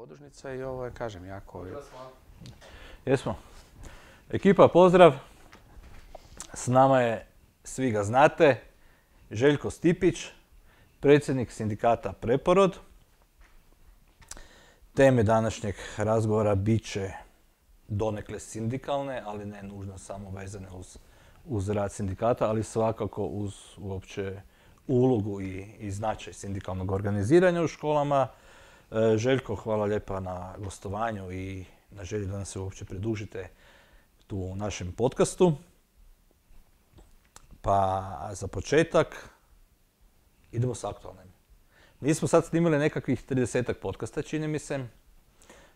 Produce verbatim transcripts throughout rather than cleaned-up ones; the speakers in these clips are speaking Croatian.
podružnica i ovo je, kažem, jako... Jesmo. Ekipa, pozdrav. S nama je, svi ga znate, Željko Stipić, predsjednik sindikata Preporod. Teme današnjeg razgovora bit će donekle sindikalne, ali ne nužno samo vezane uz, uz rad sindikata, ali svakako uz uopće ulogu i, i značaj sindikalnog organiziranja u školama. E, Željko, hvala lijepa na gostovanju i na želji da nas se uopće pridružite tu u našem podcastu. Pa za početak idemo s aktualnim. Mi smo sad snimili nekakvih tridesetak podcasta, čini mi se.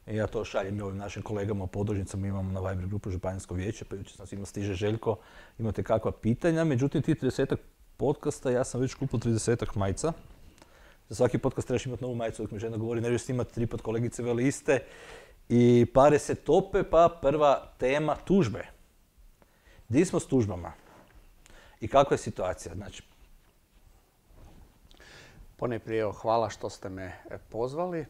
I ja to šaljem i ovim našim kolegama u podružnicama, imamo na Viber grupu Županijsko vijeće, pa jučer sam svima stiže Željko, imate kakva pitanja. Međutim, ti tridesetak podcasta, ja sam već kupio tridesetak majica. Za svaki podcast trebaš imati novu majicu, dok mi žena govori, ne snimati tri pod kolegice veli iste. I pare se tope, pa prva tema tužbe. Di smo s tužbama? I kakva je situacija? Znači, Ponajprije, hvala što ste me pozvali. E,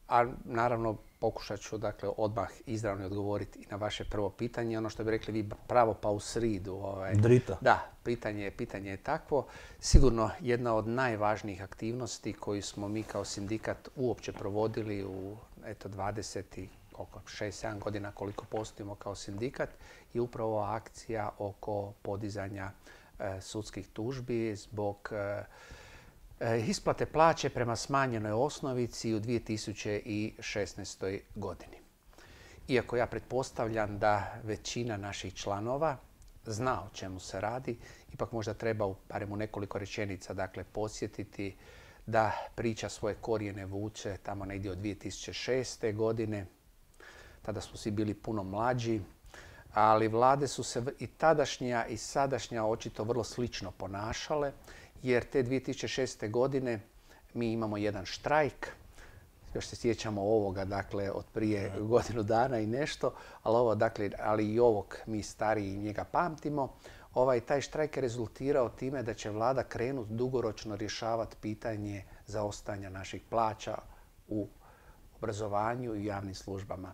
a naravno, pokušat ću dakle, odmah izravno odgovoriti i na vaše prvo pitanje. Ono što bi rekli vi pravo pa u sridu. Ovaj. Drita. Da, pitanje, pitanje je takvo. Sigurno jedna od najvažnijih aktivnosti koju smo mi kao sindikat uopće provodili u eto, dvadeset šest sedam godina koliko postojimo kao sindikat je upravo akcija oko podizanja e, sudskih tužbi zbog e, isplate plaće prema smanjenoj osnovici u dvije tisuće šesnaestoj. godini. Iako ja pretpostavljam da većina naših članova zna o čemu se radi, ipak možda treba barem u nekoliko rečenica dakle, podsjetiti da priča svoje korijene vuče tamo negdje od dvije tisuće šeste. godine. Tada smo svi bili puno mlađi, ali vlade su se i tadašnja i sadašnja očito vrlo slično ponašale, jer te dvije tisuće šeste. godine mi imamo jedan štrajk, još se sjećamo ovoga, dakle, od prije godinu dana i nešto, ali, ovo, dakle, ali i ovog mi stariji njega pamtimo. Ovaj, taj štrajk je rezultirao time da će vlada krenuti dugoročno rješavati pitanje zaostajanja naših plaća u obrazovanju i javnim službama.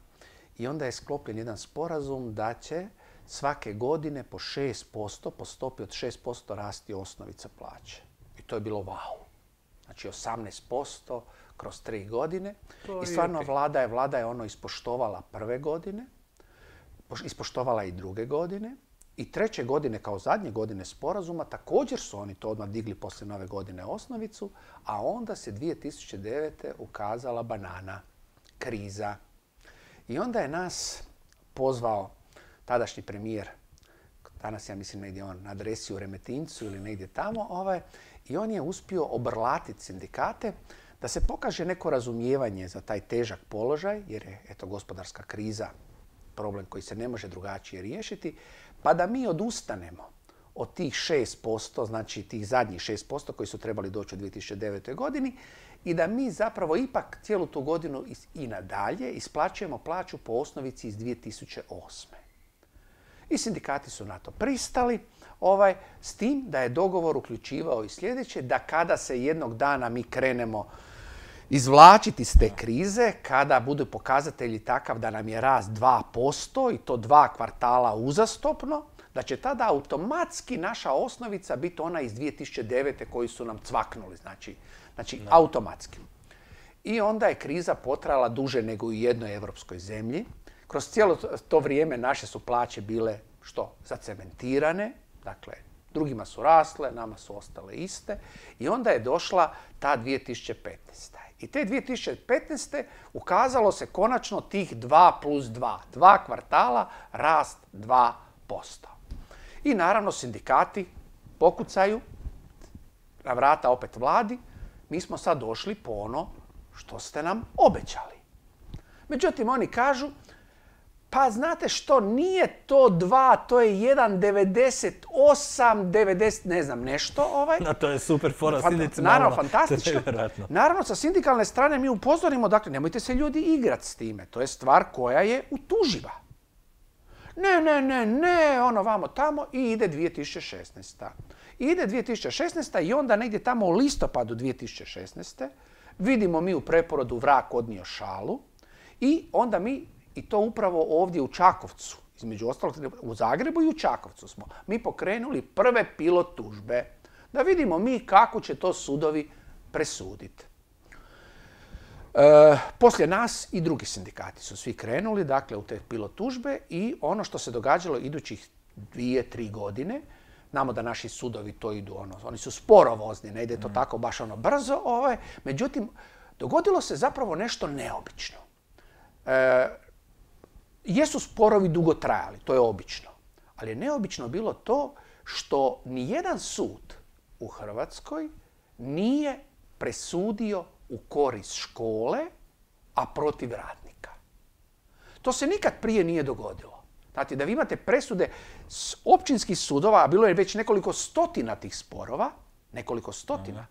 I onda je sklopljen jedan sporazum da će svake godine po šest posto, po stopi od šest posto rasti osnovica plaće. I to je bilo wow. Znači osamnaest posto kroz tri godine. I stvarno vlada je, vlada je ono ispoštovala prve godine, ispoštovala i druge godine. I treće godine, kao zadnje godine sporazuma, također su oni to odmah digli poslije nove godine osnovicu, a onda se dvije tisuće devete. ukazala banana, kriza. I onda je nas pozvao tadašnji premijer, danas ja mislim negdje on na adresi u Remetincu ili negdje tamo, ovaj, i on je uspio obrlatiti sindikate da se pokaže neko razumijevanje za taj težak položaj, jer je eto, gospodarska kriza problem koji se ne može drugačije riješiti, pa da mi odustanemo od tih šest posto, znači tih zadnjih šest posto koji su trebali doći u dvije tisuće devetoj. godini i da mi zapravo ipak cijelu tu godinu i nadalje isplaćujemo plaću po osnovici iz dvije tisuće osme. I sindikati su na to pristali, ovaj, s tim da je dogovor uključivao i sljedeće, da kada se jednog dana mi krenemo izvlačiti iz te krize, kada budu pokazatelji takav da nam je rast dva posto i to dva kvartala uzastopno, da će tada automatski naša osnovica biti ona iz dvije tisuće devete. koji su nam cvaknuli, znači, znači automatski. I onda je kriza potrajala duže nego u jednoj europskoj zemlji. Kroz cijelo to vrijeme naše su plaće bile što? Zacementirane, dakle drugima su rasle, nama su ostale iste. I onda je došla ta dvije tisuće petnaeste. I te dvije tisuće petnaeste. ukazalo se konačno tih dva plus dva. Dva kvartala, rast dva posto. I naravno sindikati pokucaju na vrata opet vladi. Mi smo sad došli po ono što ste nam obećali. Međutim, oni kažu, pa znate što, nije to dva, to je jedan devedeset osam, devedeset, ne znam, nešto. Ovaj. No, to je super fora, sindici naravno, fantastično. Naravno, sa sindikalne strane mi upozorimo, dakle, nemojte se ljudi igrati s time. To je stvar koja je utuživa. Ne, ne, ne, ne, ono vamo tamo i ide dvije tisuće šesnaesta. I ide dvije tisuće šesnaesta. i onda negdje tamo u listopadu dvije tisuće šesnaeste. Vidimo mi u preporodu vrag odnio šalu i onda mi, i to upravo ovdje u Čakovcu, između ostalog u Zagrebu i u Čakovcu smo, mi pokrenuli prve pilot tužbe da vidimo mi kako će to sudovi presuditi. E, poslije nas i drugi sindikati su svi krenuli, dakle, u te pilot tužbe i ono što se događalo idućih dvije, tri godine, znamo da naši sudovi to idu, ono, oni su sporovozni, ne ide to tako baš ono brzo, ovaj, međutim, dogodilo se zapravo nešto neobično. E, jesu sporovi dugo trajali, to je obično, ali je neobično bilo to što nijedan sud u Hrvatskoj nije presudio u korist škole, a protiv radnika. To se nikad prije nije dogodilo. Znači, da vi imate presude s općinskih sudova, a bilo je već nekoliko stotina tih sporova, nekoliko stotina,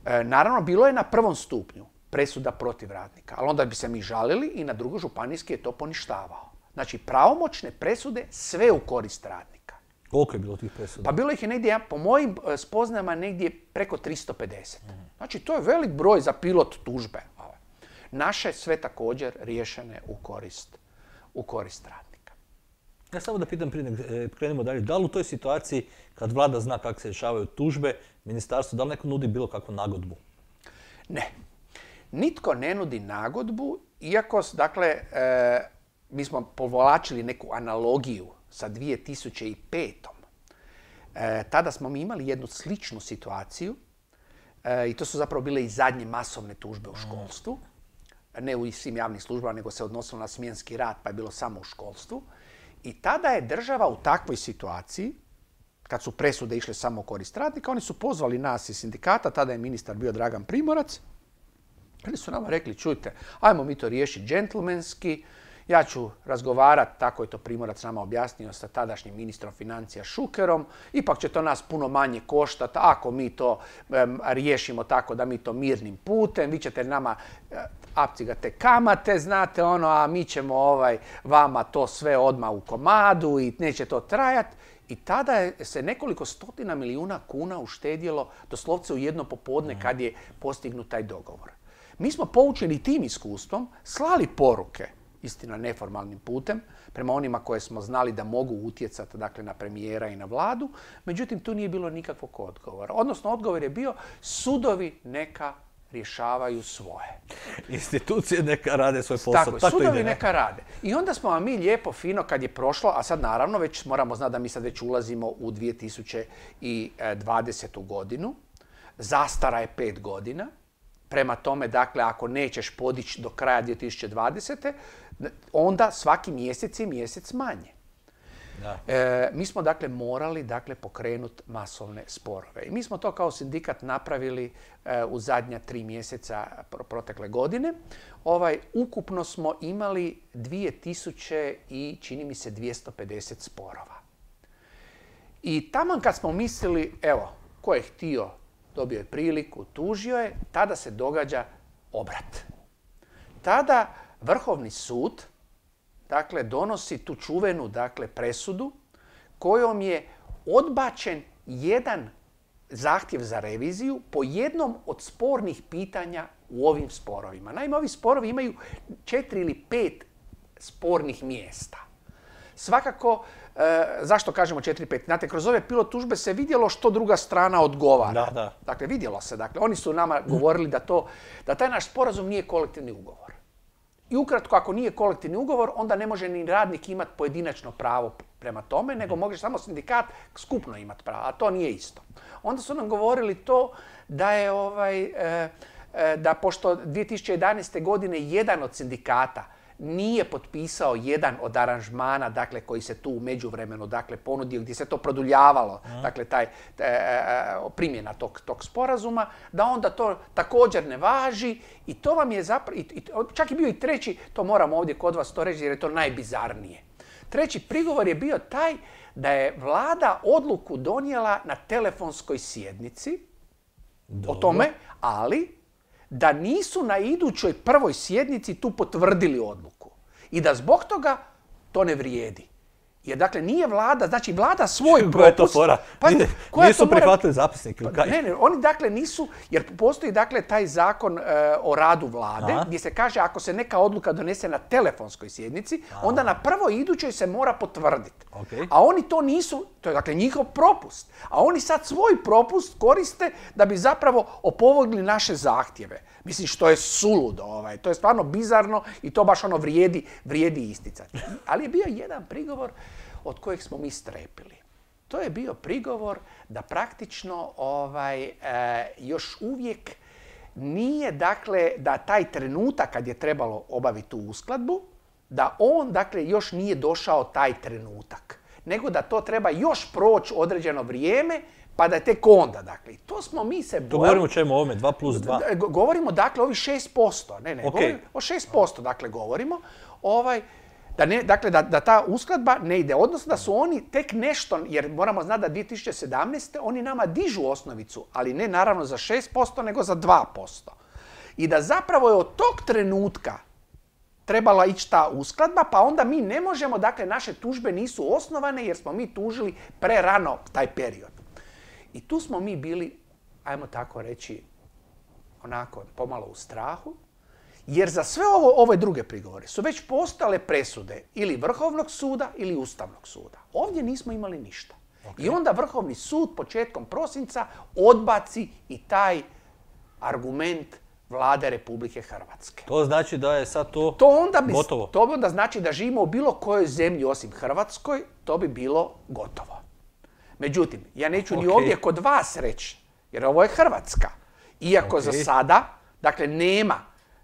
e, naravno, bilo je na prvom stupnju presuda protiv radnika, ali onda bi se mi žalili i na drugo županijski je to poništavao. Znači, pravomoćne presude sve u korist radnika. Koliko je bilo tih presuda? Pa bilo ih je negdje, po mojim spoznajama, negdje preko tristo pedeset. Znači, to je velik broj za pilot tužbe. Naše sve također riješene u korist, u korist radnika. Ja samo da pitam prije nego krenemo dalje, da li u toj situaciji kad vlada zna kako se rješavaju tužbe, ministarstvo, da li neko nudi bilo kakvu nagodbu? Ne. Nitko ne nudi nagodbu, iako, dakle, e, mi smo povlačili neku analogiju sa dvije tisuće pet. E, tada smo mi imali jednu sličnu situaciju e, i to su zapravo bile i zadnje masovne tužbe u školstvu. Ne u svim javnim službama, nego se odnosilo na smjenski rad, pa je bilo samo u školstvu. I tada je država u takvoj situaciji, kad su presude išle samo u korist radnika, oni su pozvali nas iz sindikata, tada je ministar bio Dragan Primorac, oni su nama rekli, čujte, ajmo mi to riješiti džentlmenski, ja ću razgovarati, tako je to Primorac nama objasnio, sa tadašnjim ministrom financija Šukerom, ipak će to nas puno manje koštati ako mi to um, riješimo tako da mi to mirnim putem, vi ćete nama uh, apcigate kamate, znate ono, a mi ćemo ovaj, vama to sve odmah u komadu i neće to trajati. I tada je se nekoliko stotina milijuna kuna uštedjelo doslovce u jedno popodne kad je postignut taj dogovor. Mi smo poučeni tim iskustvom slali poruke, istina neformalnim putem, prema onima koje smo znali da mogu utjecati, dakle, na premijera i na vladu, međutim tu nije bilo nikakvog odgovora. Odnosno, odgovor je bio sudovi neka rješavaju svoje. Institucije neka rade svoj posao. Tako, tako sudovi ide, ne? neka rade. I onda smo vam mi lijepo, fino, kad je prošlo, a sad naravno već moramo znati da mi sad već ulazimo u dvije tisuće dvadesetu godinu, zastara je pet godina, prema tome, dakle, ako nećeš podići do kraja dvije tisuće dvadesete. onda svaki mjesec je mjesec manje. Da. E, mi smo, dakle, morali, dakle, pokrenuti masovne sporove. I mi smo to kao sindikat napravili e, u zadnja tri mjeseca protekle godine. Ovaj, ukupno smo imali dvije tisuće i, čini mi se, dvjesto pedeset sporova. I taman kad smo mislili, evo, ko je htio, dobio je priliku, tužio je, tada se događa obrat. Tada Vrhovni sud, dakle, donosi tu čuvenu, dakle, presudu kojom je odbačen jedan zahtjev za reviziju po jednom od spornih pitanja u ovim sporovima. Naime, ovi sporovi imaju četiri ili pet spornih mjesta. Svakako, e, zašto kažemo četiri pet? Znate, kroz ove pilot tužbe se vidjelo što druga strana odgovara. Da, da. Dakle, vidjelo se. Dakle, oni su nama govorili da, to, da taj naš sporazum nije kolektivni ugovor. I ukratko, ako nije kolektivni ugovor, onda ne može ni radnik imati pojedinačno pravo prema tome, nego može samo sindikat skupno imati pravo, a to nije isto. Onda su nam govorili to da je ovaj, e, e, da pošto dvije tisuće jedanaeste. godine jedan od sindikata nije potpisao jedan od aranžmana, dakle, koji se tu u međuvremenu, dakle, ponudio, gdje se to produljavalo, mm. dakle, taj, e, primjena tog, tog sporazuma, da onda to također ne važi i to vam je zapravo, čak je bio i treći, to moram ovdje kod vas to reći jer je to najbizarnije. Treći prigovor je bio taj da je vlada odluku donijela na telefonskoj sjednici Dobro. o tome, ali da nisu na idućoj prvoj sjednici tu potvrdili odluku i da zbog toga to ne vrijedi. Jer dakle nije vlada, znači vlada svoj propust... Koja je to fora? Pa, nisu prihvatili zapisnik ili kaj? Ne, ne, oni dakle nisu, jer postoji dakle taj zakon e, o radu vlade, Aha. gdje se kaže ako se neka odluka donese na telefonskoj sjednici, Aha. onda na prvoj idućoj se mora potvrditi. Okay. A oni to nisu, to je dakle njihov propust. A oni sad svoj propust koriste da bi zapravo opovrgli naše zahtjeve. Mislim, što je suludo, ovaj. To je stvarno bizarno i to baš ono vrijedi, vrijedi isticati. Ali je bio jedan prigovor od kojeg smo mi strepili. To je bio prigovor da praktično ovaj, e, još uvijek nije, dakle, da taj trenutak kad je trebalo obaviti tu uskladbu, da on, dakle, još nije došao taj trenutak. Nego da to treba još proći određeno vrijeme, pa da je tek onda, dakle. I to smo mi se bojali. To govorimo o čemu ovome, dva plus dva? Govorimo, dakle, ovi šest posto. Ne, ne, okay. govorimo, o šest posto, dakle, govorimo. Ovaj, da, ne, dakle, da, da ta uskladba ne ide. Odnosno da su oni tek nešto, jer moramo znati da dvije tisuće sedamnaeste. oni nama dižu osnovicu, ali ne naravno za šest posto, nego za dva posto. I da zapravo je od tog trenutka trebala ići ta uskladba, pa onda mi ne možemo, dakle, naše tužbe nisu osnovane jer smo mi tužili prerano taj period. I tu smo mi bili, ajmo tako reći, onako pomalo u strahu, jer za sve ovo, ove druge prigovore su već postale presude ili Vrhovnog suda ili Ustavnog suda. Ovdje nismo imali ništa. Okay. I onda Vrhovni sud početkom prosinca odbaci i taj argument Vlade Republike Hrvatske. To znači da je sad to, to onda bi, gotovo? To onda znači da živimo u bilo kojoj zemlji osim Hrvatskoj, to bi bilo gotovo. Međutim, ja neću okay. ni ovdje kod vas reći, jer ovo je Hrvatska. Iako okay. za sada, dakle, nema.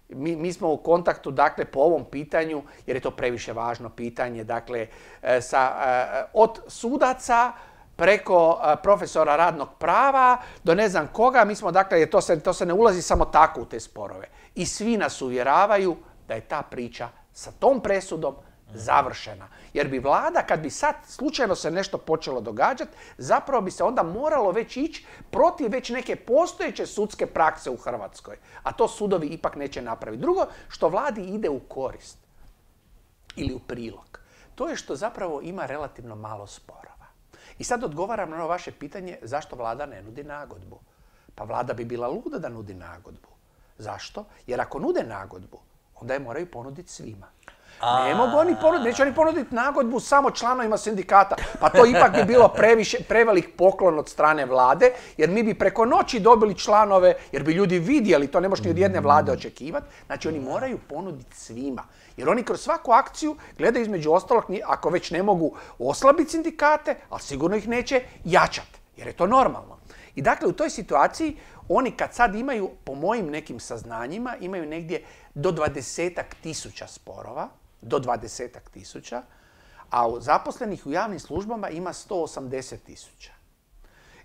Mi, mi smo u kontaktu, dakle, po ovom pitanju, jer je to previše važno pitanje, dakle, sa, od sudaca preko profesora radnog prava do ne znam koga, mi smo, dakle, to se, to se ne ulazi samo tako u te sporove. I svi nas uvjeravaju da je ta priča sa tom presudom završena. Jer bi vlada, kad bi sad slučajno se nešto počelo događati, zapravo bi se onda moralo već ići protiv već neke postojeće sudske prakse u Hrvatskoj. A to sudovi ipak neće napraviti. Drugo, što vladi ide u korist ili u prilog, to je što zapravo ima relativno malo sporova. I sad odgovaram na ono vaše pitanje zašto vlada ne nudi nagodbu. Pa vlada bi bila luda da nudi nagodbu. Zašto? Jer ako nude nagodbu, onda je moraju ponuditi svima. Ne mogu oni ponuditi, neće oni ponuditi nagodbu samo članovima sindikata. Pa to ipak bi bilo previše, prevelik poklon od strane vlade, jer mi bi preko noći dobili članove, jer bi ljudi vidjeli, to ne možeš ni od jedne vlade očekivati. Znači oni moraju ponuditi svima. Jer oni kroz svaku akciju gledaju između ostalog, ako već ne mogu oslabiti sindikate, ali sigurno ih neće jačati, jer je to normalno. I dakle u toj situaciji oni kad sad imaju, po mojim nekim saznanjima, imaju negdje do dvadesetak tisuća sporova, do dvadesetak tisuća, a u zaposlenih u javnim službama ima sto osamdeset tisuća.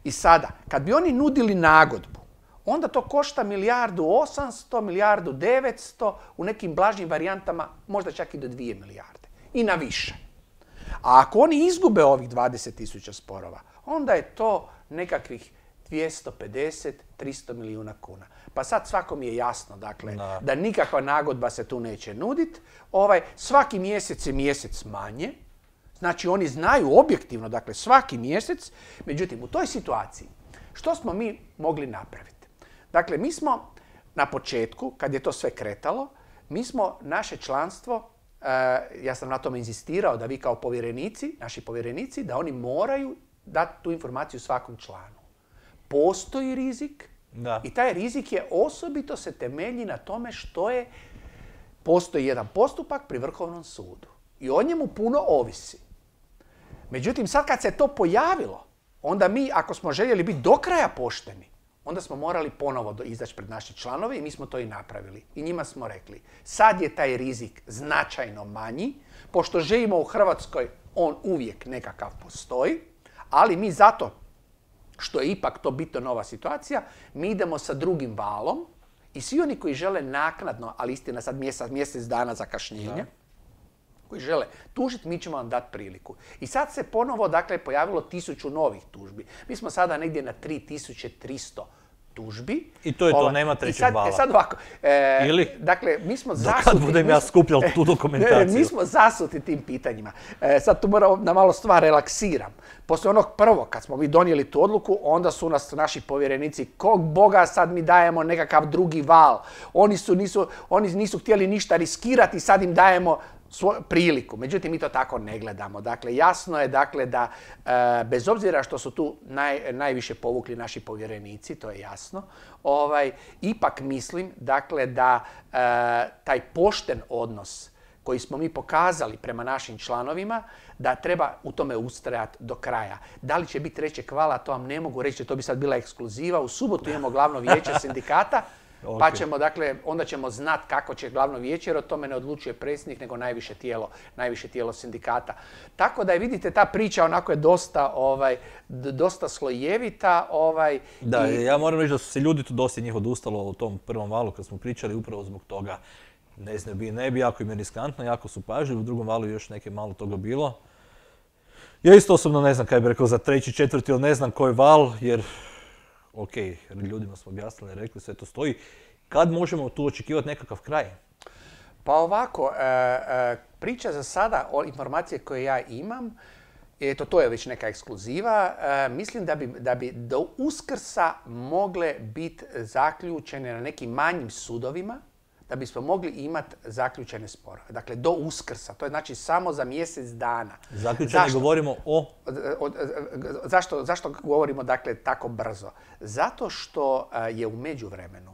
I sada, kad bi oni nudili nagodbu, onda to košta milijardu osamsto, milijardu devetsto, u nekim blažim varijantama možda čak i do dvije milijarde. I na više. A ako oni izgube ovih dvadeset tisuća sporova, onda je to nekakvih dvjesto pedeset, tristo milijuna kuna. Pa sad svakom je jasno, dakle, no. da nikakva nagodba se tu neće nuditi. Ovaj, svaki mjesec je mjesec manje. Znači, oni znaju objektivno, dakle, svaki mjesec. Međutim, u toj situaciji, što smo mi mogli napraviti? Dakle, mi smo na početku, kad je to sve kretalo, mi smo naše članstvo, e, ja sam na tome inzistirao da vi kao povjerenici, naši povjerenici, da oni moraju dati tu informaciju svakom članu. Postoji rizik da. I taj rizik je osobito se temelji na tome što je, postoji jedan postupak pri Vrhovnom sudu. I o njemu puno ovisi. Međutim, sad kad se to pojavilo, onda mi, ako smo željeli biti do kraja pošteni, onda smo morali ponovo izaći pred naše članove i mi smo to i napravili. I njima smo rekli, sad je taj rizik značajno manji, pošto živimo u Hrvatskoj, on uvijek nekakav postoji, ali mi zato što je ipak to bitno nova situacija, mi idemo sa drugim valom i svi oni koji žele naknadno, ali istina sad mjesec, mjesec dana zakašnjenja, da. koji žele tužiti, mi ćemo vam dati priliku. I sad se ponovo, dakle, pojavilo tisuću novih tužbi. Mi smo sada negdje na tri tisuće tristo tužbi. I to je to, Ova, nema trećeg sad, vala. E sad ovako, e, Ili? dakle, mi smo Do zasuti... kad budem ja skupljal tu dokumentaciju? Mi smo zasuti tim pitanjima. E, sad tu moram da malo stvar relaksiram. Poslije onog prvo, kad smo mi donijeli tu odluku, onda su nas naši povjerenici, kog boga sad mi dajemo nekakav drugi val. Oni, su, nisu, oni nisu htjeli ništa riskirati, sad im dajemo svoju priliku. Međutim, mi to tako ne gledamo. Dakle, jasno je dakle, da e, bez obzira što su tu naj, najviše povukli naši povjerenici, to je jasno, ovaj, ipak mislim dakle, da e, taj pošten odnos koji smo mi pokazali prema našim članovima, da treba u tome ustrajati do kraja. Da li će biti trećeg vala, to vam ne mogu reći, to bi sad bila ekskluziva. U subotu imamo glavno vijeće sindikata, okay. Pa ćemo, dakle, onda ćemo znati kako će glavno vijeće, jer o tome ne odlučuje predsjednik, nego najviše tijelo, najviše tijelo sindikata. Tako da je, vidite, ta priča onako je dosta, ovaj, dosta slojevita. Ovaj, da, i... ja moram reći da su se ljudi tu dosta njih odustalo u tom prvom valu kad smo pričali upravo zbog toga. Ne znam, bi, ne bi, jako im je riskantno, jako su pažljivi, u drugom valu još neke malo toga bilo. Ja isto osobno ne znam kaj bi rekao za treći, četvrti ili ne znam koji val, jer ok, ljudima smo objasnili, rekli, sve to stoji. Kad možemo tu očekivati nekakav kraj? Pa ovako, e, e, priča za sada o informacije koje ja imam, eto, to je već neka ekskluziva, e, mislim da bi, da bi do Uskrsa mogle biti zaključene na nekim manjim sudovima, da bismo mogli imati zaključene sporove. Dakle, do Uskrsa. To je znači samo za mjesec dana. Zaključene zašto? Govorimo o... o, o zašto, zašto govorimo dakle tako brzo? Zato što je u međuvremenu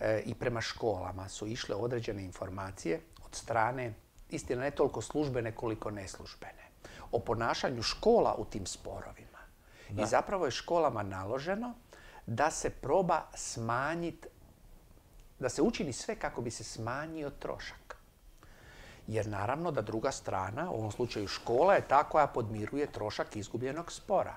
e, i prema školama su išle određene informacije od strane, istina ne toliko službene koliko neslužbene, o ponašanju škola u tim sporovima. Da. I zapravo je školama naloženo da se proba smanjiti, da se učini sve kako bi se smanjio trošak. Jer naravno da druga strana, u ovom slučaju škola, je ta koja podmiruje trošak izgubljenog spora.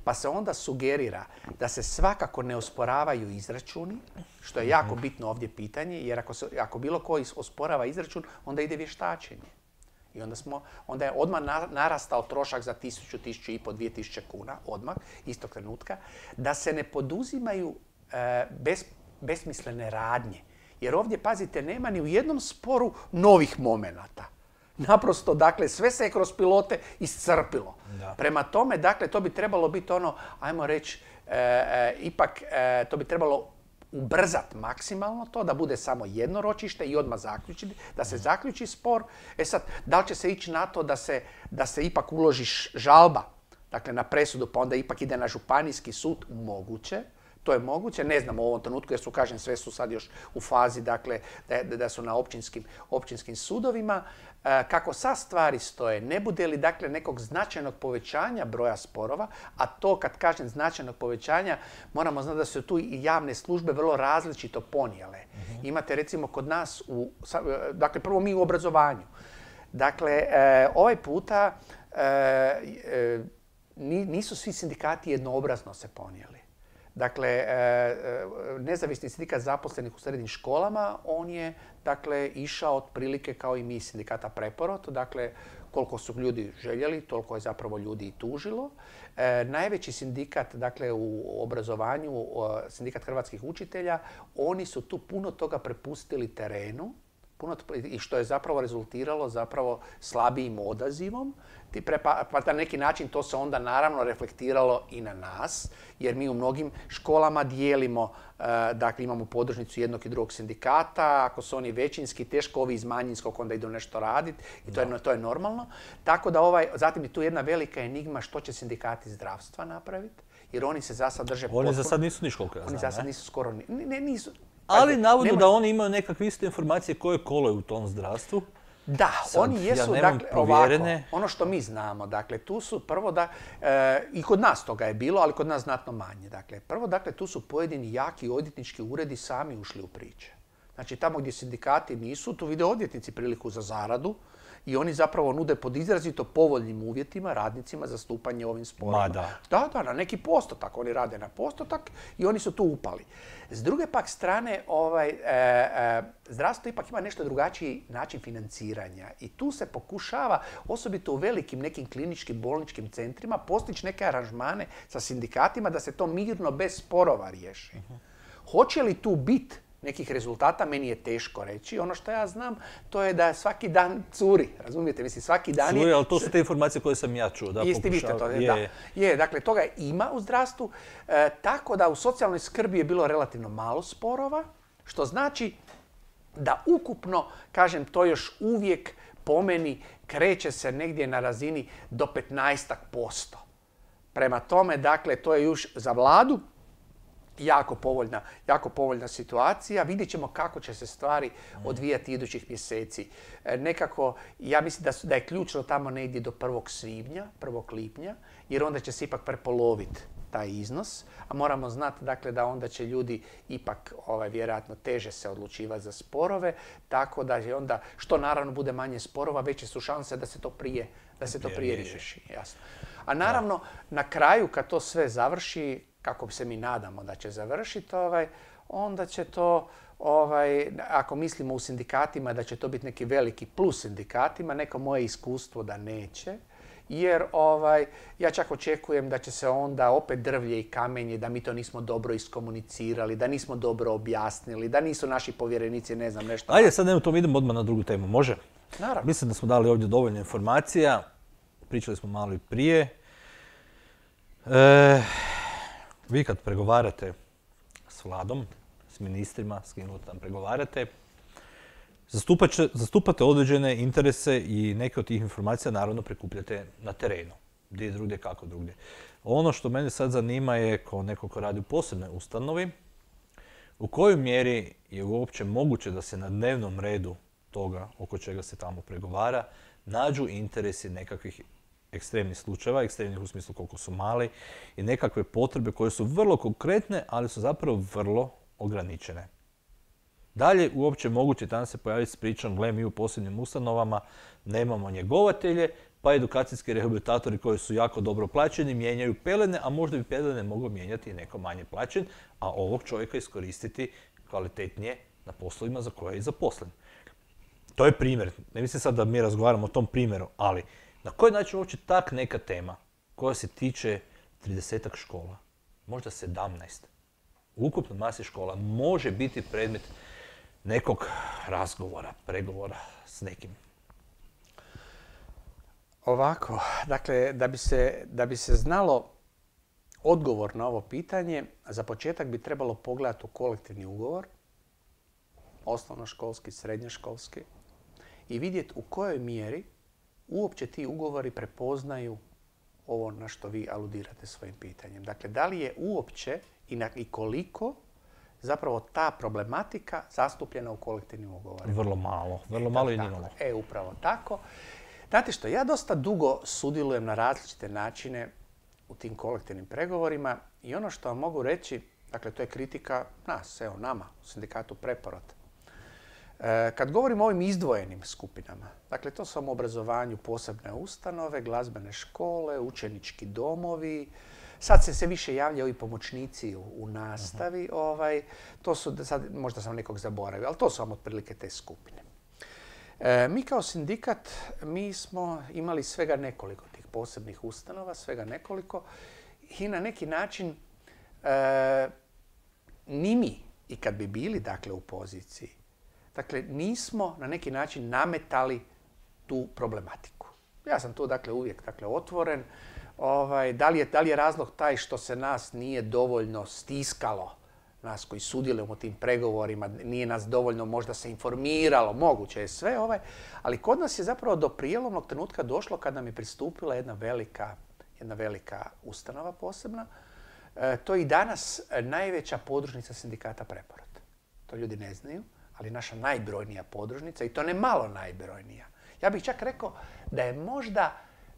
Pa se onda sugerira da se svakako ne osporavaju izračuni, što je jako bitno ovdje pitanje, jer ako, se, ako bilo ko osporava izračun, onda ide vještačenje. I onda, smo, onda je odmah narastao trošak za tisuću, tisuću i po, dvije tisuće kuna, odmah, istog trenutka, da se ne poduzimaju e, bez besmislene radnje. Jer ovdje, pazite, nema ni u jednom sporu novih momenata. Naprosto, dakle, sve se je kroz pilote iscrpilo. Da. Prema tome, dakle, to bi trebalo biti ono, ajmo reći, e, e, ipak e, to bi trebalo ubrzati maksimalno to, da bude samo jedno ročište i odmah zaključiti, da se zaključi spor. E sad, da li će se ići na to da se, da se ipak uloži žalba, dakle, na presudu, pa onda ipak ide na županijski sud? Moguće. To je moguće, ne znam u ovom trenutku jer su, kažem, sve su sad još u fazi, dakle, da, da su na općinskim, općinskim sudovima. E, kako sad stvari stoje, ne bude li, dakle, nekog značajnog povećanja broja sporova, a to, kad kažem značajnog povećanja, moramo znati da su tu i javne službe vrlo različito ponijele. Uh-huh. Imate, recimo, kod nas, u, dakle, prvo mi u obrazovanju. Dakle, e, ovaj puta e, e, nisu svi sindikati jednoobrazno se ponijeli. Dakle, nezavisni sindikat zaposlenih u srednjim školama, on je, dakle, išao otprilike kao i mi sindikata Preporod. Dakle, koliko su ljudi željeli, toliko je zapravo ljudi i tužilo. E, najveći sindikat, dakle, u obrazovanju, sindikat hrvatskih učitelja, oni su tu puno toga prepustili terenu, puno, i što je zapravo rezultiralo zapravo slabijim odazivom. Pa, pa na neki način to se onda naravno reflektiralo i na nas, jer mi u mnogim školama dijelimo, dakle imamo podružnicu jednog i drugog sindikata, ako su oni većinski, teško ovi iz manjinskog onda idu nešto raditi i to je, to je normalno. Tako da ovaj, zatim je tu jedna velika enigma što će sindikati zdravstva napraviti, jer oni se za sad drže potpuno... Oni za sad nisu niš koliko ja znam, Oni za sad nisu skoro... Ne, ne, nisu, ali navodno da oni imaju nekakve iste informacije koje kolaju u tom zdravstvu. Da, sad, oni jesu, ja dakle, ovako, ono što mi znamo, dakle, tu su prvo da, e, i kod nas toga je bilo, ali kod nas znatno manje. Dakle, prvo, dakle, tu su pojedini jaki odvjetnički uredi sami ušli u priče. Znači, tamo gdje sindikati nisu, tu vide odvjetnici priliku za zaradu i oni zapravo nude pod izrazito povoljnim uvjetima radnicima za stupanje ovim sporovima. Da. da, da, na neki postotak. Oni rade na postotak i oni su tu upali. S druge pak strane, ovaj, e, e, zdravstvo ipak ima nešto drugačiji način financiranja i tu se pokušava, osobito u velikim nekim kliničkim bolničkim centrima, postići neke aranžmane sa sindikatima da se to mirno bez sporova riješi. Uh-huh. Hoće li tu biti nekih rezultata, meni je teško reći. Ono što ja znam, to je da svaki dan curi, razumijete? Mislim, svaki dan je... Curi, ali to su te informacije koje sam ja čuo. Da, Jeste vi to, je. da. Je, dakle, toga ima u zdravstvu. E, tako da u socijalnoj skrbi je bilo relativno malo sporova, što znači da ukupno, kažem, to još uvijek po meni kreće se negdje na razini do petnaestak posto. Prema tome, dakle, to je još za vladu jako povoljna, jako povoljna situacija. Vidjet ćemo kako će se stvari odvijati idućih mjeseci. E, nekako, ja mislim da, su, da je ključno tamo negdje do prvog svibnja, prvog lipnja, jer onda će se ipak prepoloviti taj iznos, a moramo znati dakle, da onda će ljudi ipak ovaj, vjerojatno teže se odlučivati za sporove, tako da je onda, što naravno bude manje sporova, veće su šanse da se to prije, da se to prije riješi. Jasno. A naravno, na kraju kad to sve završi, kako se mi nadamo da će završiti, ovaj, onda će to, ovaj, ako mislimo u sindikatima da će to biti neki veliki plus sindikatima, neko moje iskustvo da neće. Jer ovaj, ja čak očekujem da će se onda opet drvlje i kamenje, da mi to nismo dobro iskomunicirali, da nismo dobro objasnili, da nisu naši povjerenici, ne znam, nešto. Ajde, sad nema to, idemo odmah na drugu temu, može? Naravno. Mislim da smo dali ovdje dovoljno informacija, pričali smo malo i prije. E, vi kad pregovarate s vladom, s ministrima, s kim tam pregovarate, zastupate određene interese i neke od tih informacija naravno prikupljate na terenu. Gdje drugdje, kako drugdje. Ono što mene sad zanima je, kao neko ko radi u posebnoj ustanovi, u kojoj mjeri je uopće moguće da se na dnevnom redu toga oko čega se tamo pregovara nađu interesi nekakvih ekstremnih slučajeva, ekstremnih u smislu koliko su mali, i nekakve potrebe koje su vrlo konkretne, ali su zapravo vrlo ograničene. Dalje, uopće moguće tamo se pojaviti s pričom, gle, mi u posebnim ustanovama nemamo njegovatelje, pa edukacijski rehabilitatori koji su jako dobro plaćeni mijenjaju pelene, a možda bi pelene moglo mijenjati i neko manje plaćen, a ovog čovjeka iskoristiti kvalitetnije na poslovima za koje je i zaposlen. To je primjer. Ne mislim sad da mi razgovaramo o tom primjeru, ali na koji način uopće tak neka tema koja se tiče tridesetak škola, možda sedamnaest, u ukupnoj masi škola može biti predmet nekog razgovora, pregovora s nekim? Ovako, dakle, da bi se, da bi se znalo odgovor na ovo pitanje, za početak bi trebalo pogledati u kolektivni ugovor, osnovnoškolski, srednjoškolski, i vidjeti u kojoj mjeri uopće ti ugovori prepoznaju ovo na što vi aludirate svojim pitanjem. Dakle, da li je uopće i, na, i koliko zapravo ta problematika zastupljena u kolektivnim ugovorima? Vrlo malo. Vrlo malo i nimalo. E, upravo tako. Znate što, ja dosta dugo sudjelujem na različite načine u tim kolektivnim pregovorima i ono što vam mogu reći, dakle, to je kritika nas, evo, nama, u sindikatu Preporod. E, kad govorimo o ovim izdvojenim skupinama, dakle, to su u obrazovanju posebne ustanove, glazbene škole, učenički domovi, sad se sve više javljaju i pomoćnici u, u nastavi, uh-huh. ovaj, to su, sad možda sam nekog zaboravio, ali to su vam otprilike te skupine. E, mi kao sindikat, mi smo imali svega nekoliko tih posebnih ustanova, svega nekoliko, i na neki način e, ni mi, i kad bi bili dakle u poziciji, dakle nismo na neki način nametali tu problematiku. Ja sam tu dakle uvijek dakle otvoren. Ovaj, da li je, da li je razlog taj što se nas nije dovoljno stiskalo, nas koji sudjelujemo u tim pregovorima, nije nas dovoljno možda se informiralo, moguće je sve, ovaj, ali kod nas je zapravo do prijelomnog trenutka došlo kad nam je pristupila jedna velika, jedna velika ustanova posebna. E, to je i danas najveća podružnica sindikata Preporod. To ljudi ne znaju, ali naša najbrojnija podružnica, i to ne malo najbrojnija. Ja bih čak rekao da je možda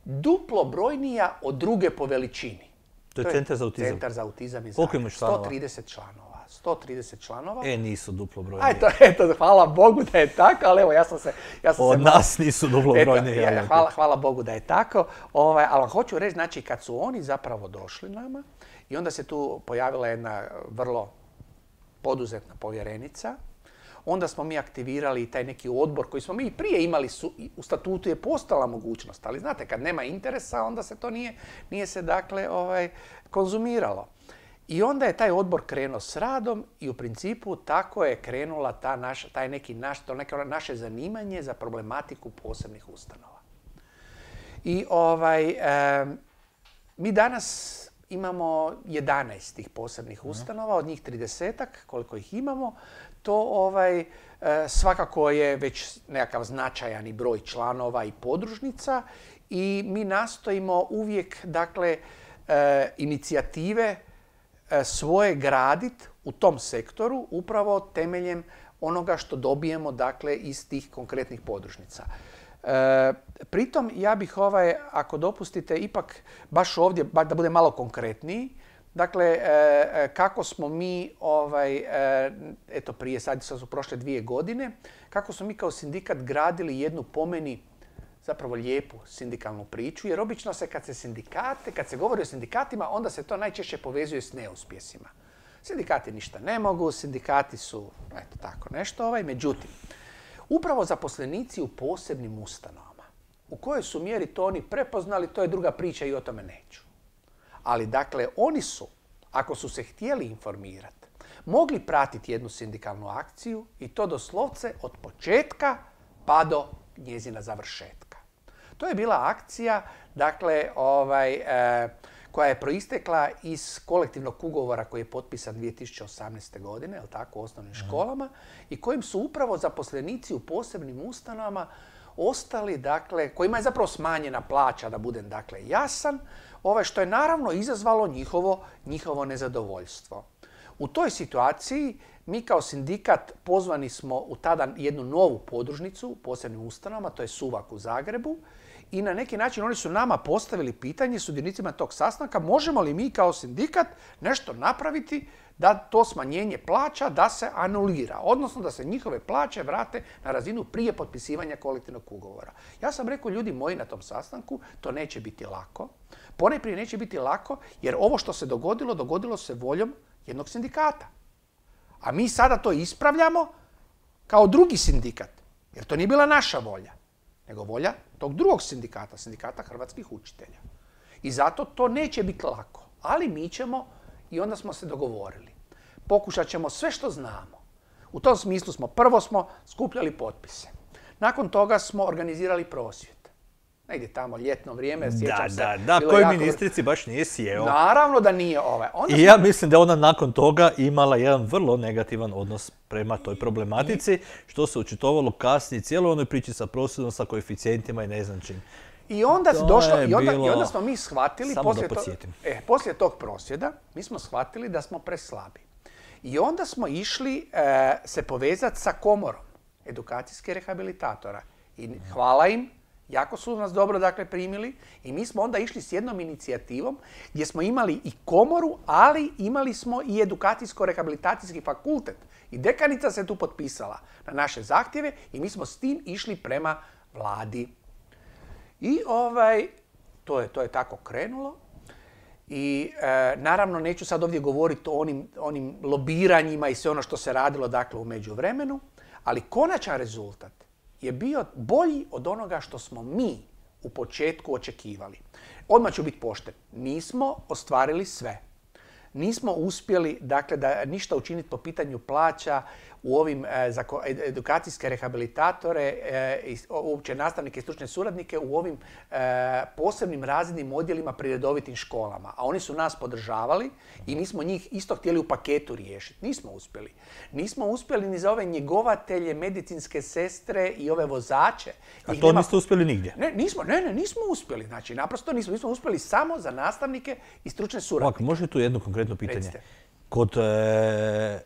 duplo brojnija od druge po veličini. To je Centar za autizam. Centar za autizam iz Koliko imaš članova? sto trideset članova. sto trideset članova. E, nisu duplo brojniji. Eto, eto, hvala Bogu da je tako, ali evo, ja sam se... Ja sam Od se nas malo... nisu duplo brojniji. Eto, hvala, hvala Bogu da je tako. Ovaj, ali vam hoću reći, znači, kad su oni zapravo došli nama i onda se tu pojavila jedna vrlo poduzetna povjerenica, onda smo mi aktivirali taj neki odbor koji smo mi i prije imali, su, u statutu je postala mogućnost, ali znate, kad nema interesa, onda se to nije, nije se dakle ovaj, konzumiralo. I onda je taj odbor krenuo s radom i u principu tako je krenula ta naša, taj neki naš, to neko naše zanimanje za problematiku posebnih ustanova. I ovaj, e, mi danas imamo jedanaest tih posebnih ustanova, od njih tridesetak, koliko ih imamo. To ovaj, e, svakako je već nekakav značajan i broj članova i podružnica i mi nastojimo uvijek, dakle, e, inicijative e, svoje graditi u tom sektoru upravo temeljem onoga što dobijemo, dakle, iz tih konkretnih podružnica. E, pritom ja bih, ovaj, ako dopustite, ipak baš ovdje, da bude malo konkretniji, dakle, e, kako smo mi, ovaj, e, eto prije, sad su prošle dvije godine, kako smo mi kao sindikat gradili jednu, po meni, zapravo lijepu sindikalnu priču, jer obično se kad se sindikate, kad se govori o sindikatima, onda se to najčešće povezuje s neuspjesima. Sindikati ništa ne mogu, sindikati su, eto tako nešto, ovaj, međutim, upravo zaposlenici u posebnim ustanovama, u kojoj su mjeri to oni prepoznali, to je druga priča i o tome neću. Ali dakle, oni su, ako su se htjeli informirati, mogli pratiti jednu sindikalnu akciju i to doslovce od početka pa do njezina završetka. To je bila akcija, dakle, ovaj, e, koja je proistekla iz kolektivnog ugovora koji je potpisan dvije tisuće osamnaeste. godine, jel tako, u osnovnim školama, i kojim su upravo zaposlenici u posebnim ustanovama ostali, dakle, kojima je zapravo smanjena plaća, da budem, dakle, jasan, ovaj, što je naravno izazvalo njihovo, njihovo nezadovoljstvo. U toj situaciji mi kao sindikat pozvani smo u tada jednu novu podružnicu u posebnim ustanovama, to je Suvak u Zagrebu, i na neki način oni su nama postavili pitanje, sudionicima tog sastanka, možemo li mi kao sindikat nešto napraviti da to smanjenje plaća da se anulira, odnosno da se njihove plaće vrate na razinu prije potpisivanja kolektivnog ugovora. Ja sam rekao, ljudi moji, na tom sastanku, to neće biti lako. Ponajprije neće biti lako jer ovo što se dogodilo, dogodilo se voljom jednog sindikata. A mi sada to ispravljamo kao drugi sindikat, jer to nije bila naša volja, nego volja tog drugog sindikata, sindikata hrvatskih učitelja. I zato to neće biti lako, ali mi ćemo, i onda smo se dogovorili, pokušat ćemo sve što znamo. U tom smislu smo, prvo smo skupljali potpise. Nakon toga smo organizirali prosvjed. Negdje tamo ljetno vrijeme, sjećam se. Da, da, da, koji jako... ministrici baš nije sjeo. Naravno da nije ovaj. Onda I smo... ja mislim da ona nakon toga imala jedan vrlo negativan odnos prema toj problematici, I... što se očitovalo kasnije cijelo onoj priči sa prosvjedom, sa koeficijentima i ne znam čim. I onda, došlo, i onda, i onda smo mi shvatili, poslije, to, e, poslije tog prosvjeda, mi smo shvatili da smo preslabi. I onda smo išli e, se povezati sa komorom edukacijskih rehabilitatora. I hvala im, jako su nas dobro, dakle, primili, i mi smo onda išli s jednom inicijativom gdje smo imali i komoru, ali imali smo i edukacijsko-rehabilitacijski fakultet. I dekanica se tu potpisala na naše zahtjeve i mi smo s tim išli prema vladi. I ovaj, to je, to je tako krenulo. I e, naravno neću sad ovdje govoriti o onim, onim lobiranjima i sve ono što se radilo, dakle, u međuvremenu, ali konačan rezultat je bio bolji od onoga što smo mi u početku očekivali. Odmah ću biti pošten. Nismo ostvarili sve. Nismo uspjeli, dakle, da ništa učiniti po pitanju plaća u ovim e, za edukacijske rehabilitatore, e, uopće nastavnike i stručne suradnike u ovim e, posebnim razrednim odjelima pri redovitim školama. A oni su nas podržavali i mi smo njih isto htjeli u paketu riješiti. Nismo uspjeli. Nismo uspjeli ni za ove njegovatelje, medicinske sestre i ove vozače. A to nema... niste uspjeli nigdje? Ne, nismo, ne, ne, nismo uspjeli. Znači, naprosto nismo, nismo uspjeli samo za nastavnike i stručne suradnike. Ovak, može tu jedno konkretno pitanje? Recite. Kod e,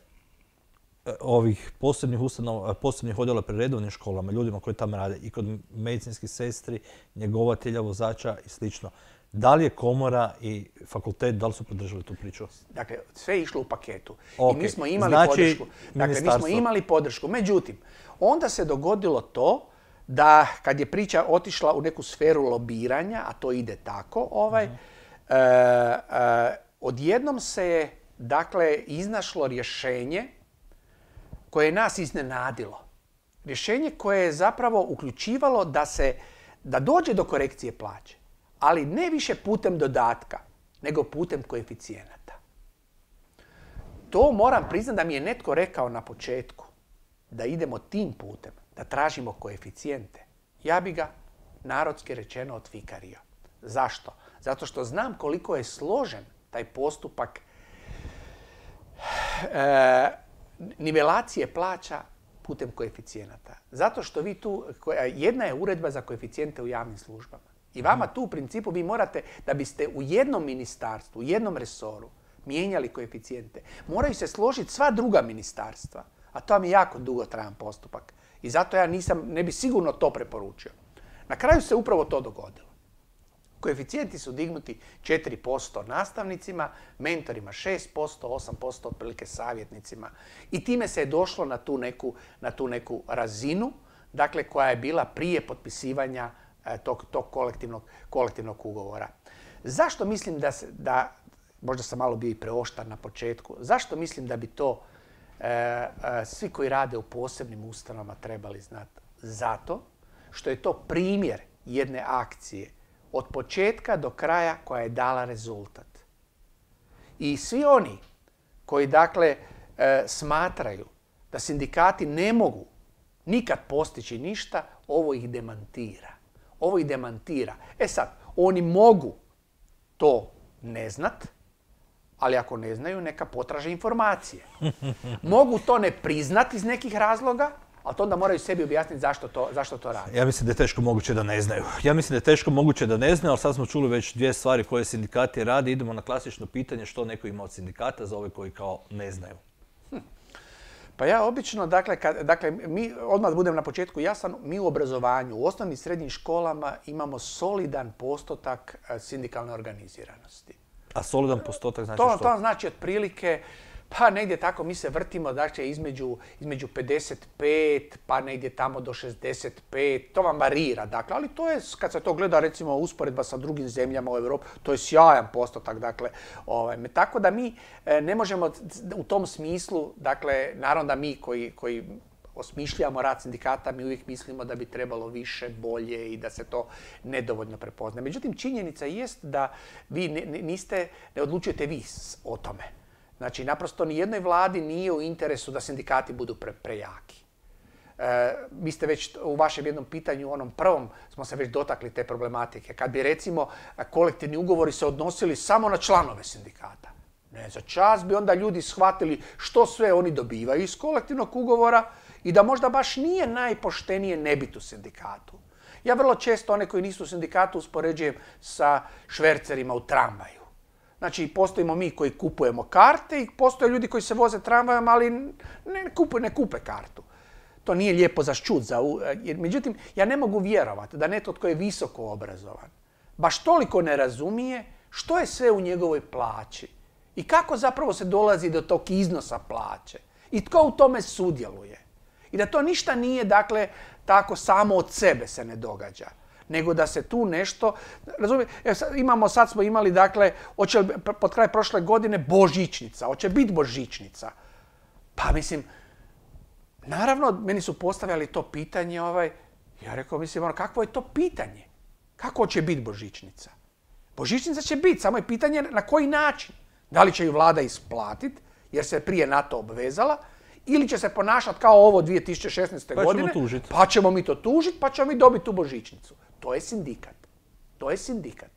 ovih posebnih ustanova, posebnih odjela pri redovnim školama, ljudima koji tamo rade, i kod medicinskih sestri, njegovatelja, vozača i slično, da li je komora i fakultet, da li su podržali tu priču? Dakle, sve je išlo u paketu. Okay. I mi smo imali znači, podršku. Dakle, mi smo imali podršku. Međutim, onda se dogodilo to da kad je priča otišla u neku sferu lobiranja, a to ide tako, ovaj, uh-huh. e, e, odjednom se je, dakle, iznašlo rješenje koje je nas iznenadilo. Rješenje koje je zapravo uključivalo da se, da dođe do korekcije plaće, ali ne više putem dodatka, nego putem koeficijenata. to moram priznati da mi je netko rekao na početku, da idemo tim putem, da tražimo koeficijente. Ja bi ga, narodski rečeno, odfikario. Zašto? Zato što znam koliko je složen taj postupak e, nivelacije plaća putem koeficijenata. Zato što vi tu, jedna je uredba za koeficijente u javnim službama. I vama tu u principu vi morate, da biste u jednom ministarstvu, u jednom resoru mijenjali koeficijente, moraju se složiti sva druga ministarstva. A to vam je jako dugotrajan postupak. I zato ja nisam, ne bi sigurno to preporučio. Na kraju se upravo to dogodilo. Koeficijenti su dignuti četiri posto nastavnicima, mentorima šest posto, osam posto otprilike savjetnicima. I time se je došlo na tu neku, na tu neku razinu, dakle, koja je bila prije potpisivanja e, tog, tog kolektivnog, kolektivnog ugovora. Zašto mislim da, se, da, možda sam malo bio i preoštar na početku, zašto mislim da bi to e, e, svi koji rade u posebnim ustanovama trebali znati? Zato što je to primjer jedne akcije od početka do kraja koja je dala rezultat. I svi oni koji dakle e, smatraju da sindikati ne mogu nikad postići ništa, ovo ih demantira. Ovo ih demantira. E sad, oni mogu to ne znat, ali ako ne znaju, neka potraže informacije. Mogu to ne priznati iz nekih razloga, ali to onda moraju sebi objasniti zašto to, zašto to radi. Ja mislim da je teško moguće da ne znaju. Ja mislim da je teško moguće da ne znaju, ali sad smo čuli već dvije stvari koje sindikati radi. Idemo na klasično pitanje što neko ima od sindikata za ove koji kao ne znaju. Hm. Pa ja obično, dakle, kad, dakle, mi, odmah budem na početku jasan, mi u obrazovanju, u osnovnim i srednjim školama imamo solidan postotak sindikalne organiziranosti. A solidan postotak znači to, što? To znači otprilike, pa negdje tako mi se vrtimo, dakle, između, između pedeset pet, pa negdje tamo do šezdeset pet, to vam varira, dakle, ali to je, kad se to gleda, recimo, usporedba sa drugim zemljama u Europi, to je sjajan postotak, dakle, ovaj, tako da mi e, ne možemo u tom smislu, dakle, naravno da mi koji, koji osmišljamo rad sindikata, mi uvijek mislimo da bi trebalo više, bolje i da se to nedovoljno prepozna. Međutim, činjenica jest da vi ne, niste, ne odlučujete vi o tome. Znači, naprosto ni jednoj vladi nije u interesu da sindikati budu pre, prejaki. E, vi ste već u vašem jednom pitanju, onom prvom, smo se već dotakli te problematike. Kad bi, recimo, kolektivni ugovori se odnosili samo na članove sindikata. Ne, za čas bi onda ljudi shvatili što sve oni dobivaju iz kolektivnog ugovora i da možda baš nije najpoštenije ne biti u sindikatu. Ja vrlo često one koji nisu u sindikatu uspoređujem sa švercerima u tramvaju. Znači, postojimo mi koji kupujemo karte i postoje ljudi koji se voze tramvajom, ali ne kupe, ne kupe kartu. To nije lijepo za ščut. Za, međutim, ja ne mogu vjerovati da netko tko je visoko obrazovan baš toliko ne razumije što je sve u njegovoj plaći i kako zapravo se dolazi do tog iznosa plaće i tko u tome sudjeluje. I da to ništa nije, dakle, tako samo od sebe se ne događa, nego da se tu nešto, razumije, imamo, sad smo imali, dakle, hoće pod kraj prošle godine božićnica, hoće biti božićnica. Pa mislim, naravno, meni su postavljali to pitanje, ovaj, ja rekao, mislim, ono, kakvo je to pitanje? Kako će biti božićnica? Božićnica će biti, samo je pitanje na koji način. Da li će ju vlada isplatiti, jer se prije na to obvezala, ili će se ponašati kao ovo dvije tisuće šesnaeste. Pa godine, ćemo tužiti. pa ćemo mi to tužiti, pa ćemo mi dobiti tu božićnicu. To je sindikat. To je sindikat.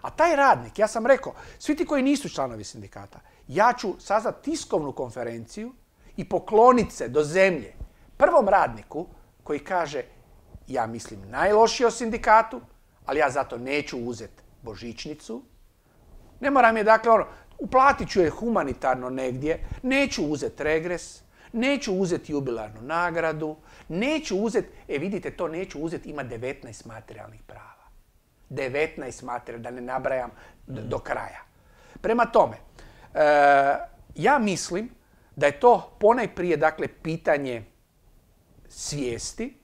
A taj radnik, ja sam rekao, svi ti koji nisu članovi sindikata, ja ću sazvati tiskovnu konferenciju i pokloniti se do zemlje prvom radniku koji kaže, ja mislim najlošije o sindikatu, ali ja zato neću uzeti božićnicu. Ne moram je, dakle, ono, uplatit ću je humanitarno negdje, neću uzeti regres, neću uzeti jubilarnu nagradu, neću uzeti, e vidite, to neću uzeti, ima devetnaest materijalnih prava. devetnaest materijalnih, da ne nabrajam do, do kraja. Prema tome, e, ja mislim da je to ponajprije, dakle, pitanje svijesti.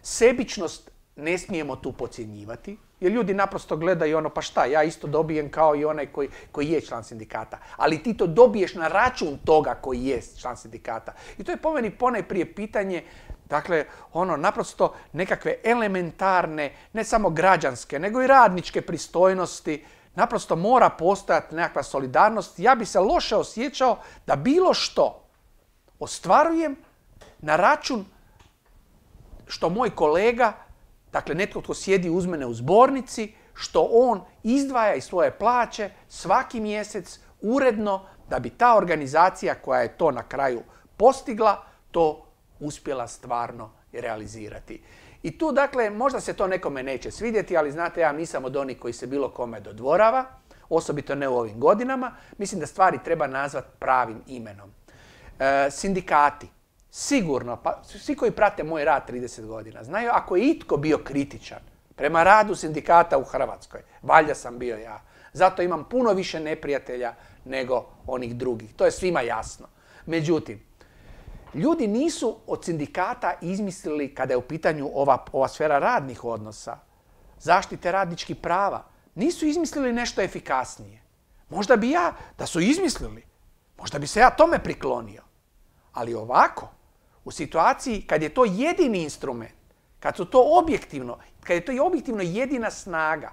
Sebičnost ne smijemo tu podcjenjivati, jer ljudi naprosto gledaju ono, pa šta, ja isto dobijem kao i onaj koji, koji je član sindikata. Ali ti to dobiješ na račun toga koji je član sindikata. I to je po meni ponajprije pitanje, dakle, ono, naprosto nekakve elementarne, ne samo građanske, nego i radničke pristojnosti. Naprosto mora postojati nekakva solidarnost. Ja bi se loše osjećao da bilo što ostvarujem na račun što moj kolega, dakle netko tko sjedi uz mene u zbornici, što on izdvaja iz svoje plaće svaki mjesec uredno da bi ta organizacija koja je to na kraju postigla, to uspjela stvarno realizirati. I tu, dakle, možda se to nekome neće svidjeti, ali znate, ja nisam od onih koji se bilo kome dodvorava, osobito ne u ovim godinama. Mislim da stvari treba nazvati pravim imenom. E, sindikati, sigurno, pa svi koji prate moj rad trideset godina, znaju ako je itko bio kritičan prema radu sindikata u Hrvatskoj, valjda sam bio ja. Zato imam puno više neprijatelja nego onih drugih. To je svima jasno. Međutim, ljudi nisu od sindikata izmislili, kada je u pitanju ova, ova sfera radnih odnosa, zaštite radničkih prava, nisu izmislili nešto efikasnije. Možda bi ja, da su izmislili, možda bi se ja tome priklonio. Ali ovako, u situaciji kad je to jedini instrument, kad su to objektivno, kad je to objektivno jedina snaga,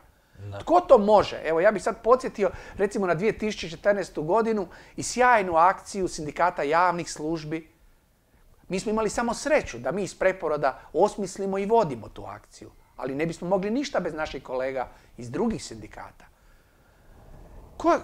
da. Tko to može? Evo, ja bih sad podsjetio recimo na dvije tisuće četrnaestu. godinu i sjajnu akciju sindikata javnih službi. Mi smo imali samo sreću da mi iz Preporoda osmislimo i vodimo tu akciju, ali ne bismo mogli ništa bez naših kolega iz drugih sindikata. Ko...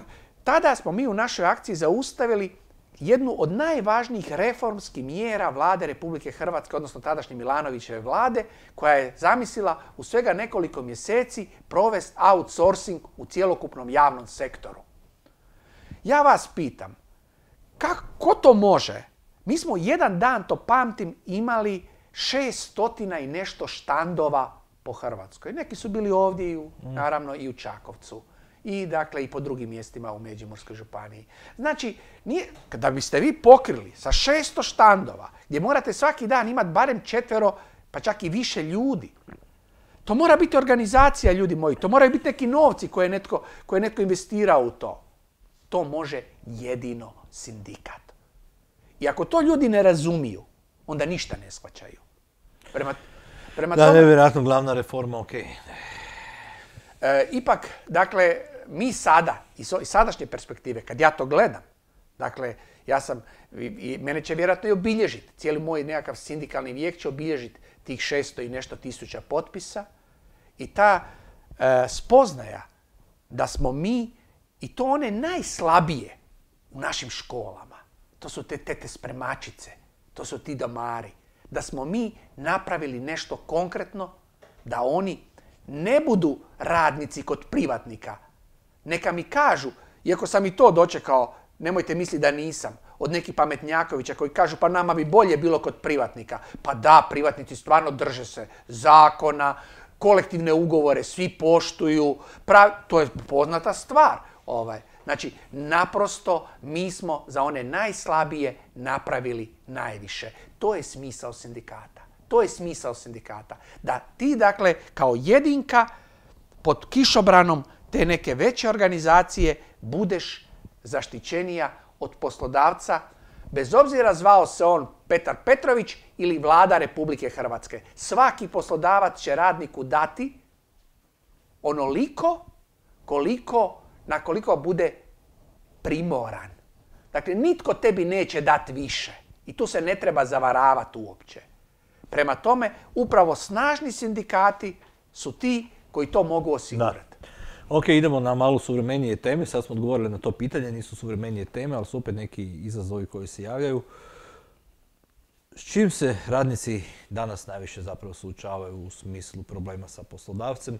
Tada smo mi u našoj akciji zaustavili jednu od najvažnijih reformskih mjera Vlade Republike Hrvatske, odnosno tadašnje Milanovićeve vlade, koja je zamislila u svega nekoliko mjeseci provest outsourcing u cjelokupnom javnom sektoru. Ja vas pitam, kako to može? Mi smo jedan dan, to pamtim, imali šeststotina i nešto štandova po Hrvatskoj. Neki su bili ovdje, i u, naravno, i u Čakovcu. I, dakle, i po drugim mjestima u Međimurskoj županiji. Znači, nije, da biste vi pokrili sa šesto štandova, gdje morate svaki dan imati barem četvero, pa čak i više ljudi, to mora biti organizacija, ljudi moji. To moraju biti neki novci koje je netko, koje je netko investirao u to. To može jedino sindikat. I ako to ljudi ne razumiju, onda ništa ne shvaćaju. Prema, prema da, tome, nevjerojatno glavna reforma, ok. E, ipak, dakle, mi sada, iz sadašnje perspektive, kad ja to gledam, dakle, ja sam, i, i mene će vjerojatno i obilježiti, cijeli moj nekakav sindikalni vijek će obilježiti tih šesto i nešto tisuća potpisa i ta e, spoznaja da smo mi, i to one najslabije u našim školama, to su te tete spremačice, to su ti domari, da smo mi napravili nešto konkretno, da oni ne budu radnici kod privatnika. Neka mi kažu, iako sam i to dočekao, nemojte misliti da nisam, od nekih pametnjakovića koji kažu pa nama bi bolje bilo kod privatnika. Pa da, privatnici stvarno drže se zakona, kolektivne ugovore svi poštuju, prav... to je poznata stvar. Ovaj. Znači, naprosto mi smo za one najslabije napravili najviše. To je smisao sindikata. To je smisao sindikata. Da ti, dakle, kao jedinka pod kišobranom te neke veće organizacije budeš zaštićenija od poslodavca, bez obzira zvao se on Petar Petrović ili Vlada Republike Hrvatske. Svaki poslodavac će radniku dati onoliko koliko, na koliko bude primoran. Dakle, nitko tebi neće dati više. I tu se ne treba zavaravati uopće. Prema tome, upravo snažni sindikati su ti koji to mogu osigurati. Ok, idemo na malo suvremenije teme. Sad smo odgovorili na to pitanje, nisu suvremenije teme, ali su opet neki izazovi koji se javljaju. S čim se radnici danas najviše zapravo suočavaju u smislu problema sa poslodavcem?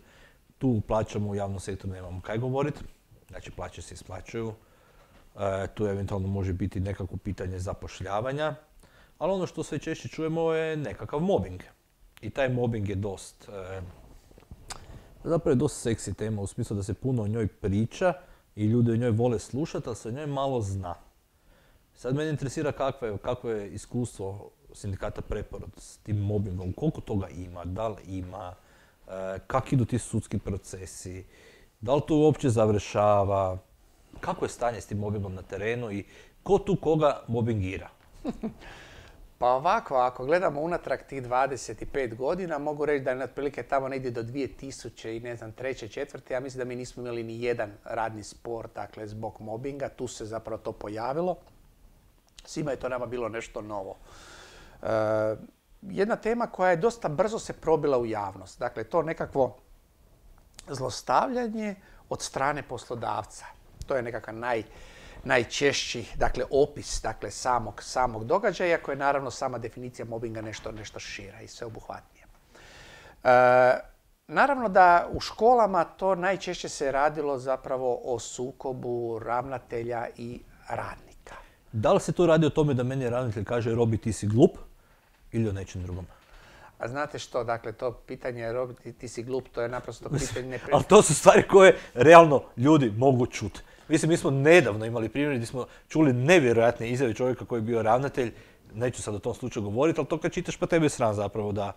Tu plaćamo u javnom sektoru, nemamo kaj govoriti. Znači, plaće se isplaćuju. E, tu eventualno može biti nekako pitanje zapošljavanja. Ali ono što sve češće čujemo je nekakav mobbing. I taj mobbing je dost, e, zapravo je dosta seksi tema u smislu da se puno o njoj priča i ljudi o njoj vole slušati, ali se o njoj malo zna. Sad mene interesira kakvo je, kakvo je iskustvo sindikata Preporod s tim mobbingom, koliko toga ima, da li ima, e, kak idu ti sudski procesi, da li to uopće završava, kako je stanje s tim mobbingom na terenu i ko tu koga mobbingira? Pa ovako, ako gledamo unatrag tih dvadeset pet godina, mogu reći da je otprilike tamo negdje do dvije tisuće i ne znam, treće, četvrte, ja mislim da mi nismo imali ni jedan radni spor, dakle, zbog mobinga, tu se zapravo to pojavilo. Svima je to nama bilo nešto novo. E, jedna tema koja je dosta brzo se probila u javnost, dakle, to nekakvo zlostavljanje od strane poslodavca. To je nekakav naj... najčešći, dakle, opis, dakle, samog, samog događaja, koja je naravno sama definicija mobinga nešto, nešto šira i sveobuhvatnija. E, naravno da u školama to najčešće se radilo zapravo o sukobu ravnatelja i radnika. Da li se tu radi o tome da meni ravnatelj kaže Robi ti si glup ili o nečem drugom? A znate što, dakle, to pitanje Robi ti, ti si glup, to je naprosto pitanje... Nepre... Ali to su stvari koje realno ljudi mogu čuti. Mislim, mi smo nedavno imali primjer gdje smo čuli nevjerojatne izjave čovjeka koji je bio ravnatelj. Neću sad o tom slučaju govoriti, ali to kad čitaš pa tebe je sram zapravo da,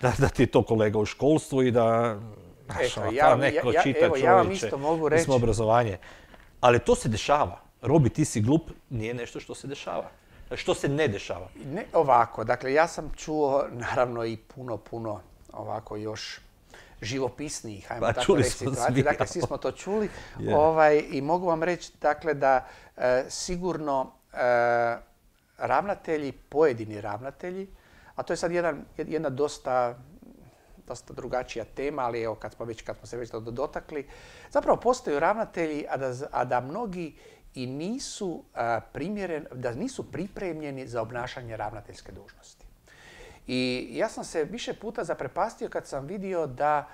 da, da ti je to kolega u školstvu i da... Znaš, Eto, ono, ja, neko ja, čita evo, ja vam čovječe, isto mogu mi smo reći... obrazovanje. Ali to se dešava. Robi, ti si glup, nije nešto što se dešava. Što se ne dešava? Ne ovako, dakle, ja sam čuo naravno i puno, puno ovako još živopisnijih, ajmo Pa, tako reći, smo situacije. svi, Dakle, svi smo to čuli. Yeah. Ovaj, I mogu vam reći, dakle, da e, sigurno e, ravnatelji, pojedini ravnatelji, a to je sad jedan, jedna dosta, dosta drugačija tema, ali evo, kad smo, već, kad smo se već dotakli, zapravo postaju ravnatelji, a da, a da mnogi i nisu, a, primjeren, da nisu pripremljeni za obnašanje ravnateljske dužnosti. I ja sam se više puta zaprepastio kad sam vidio da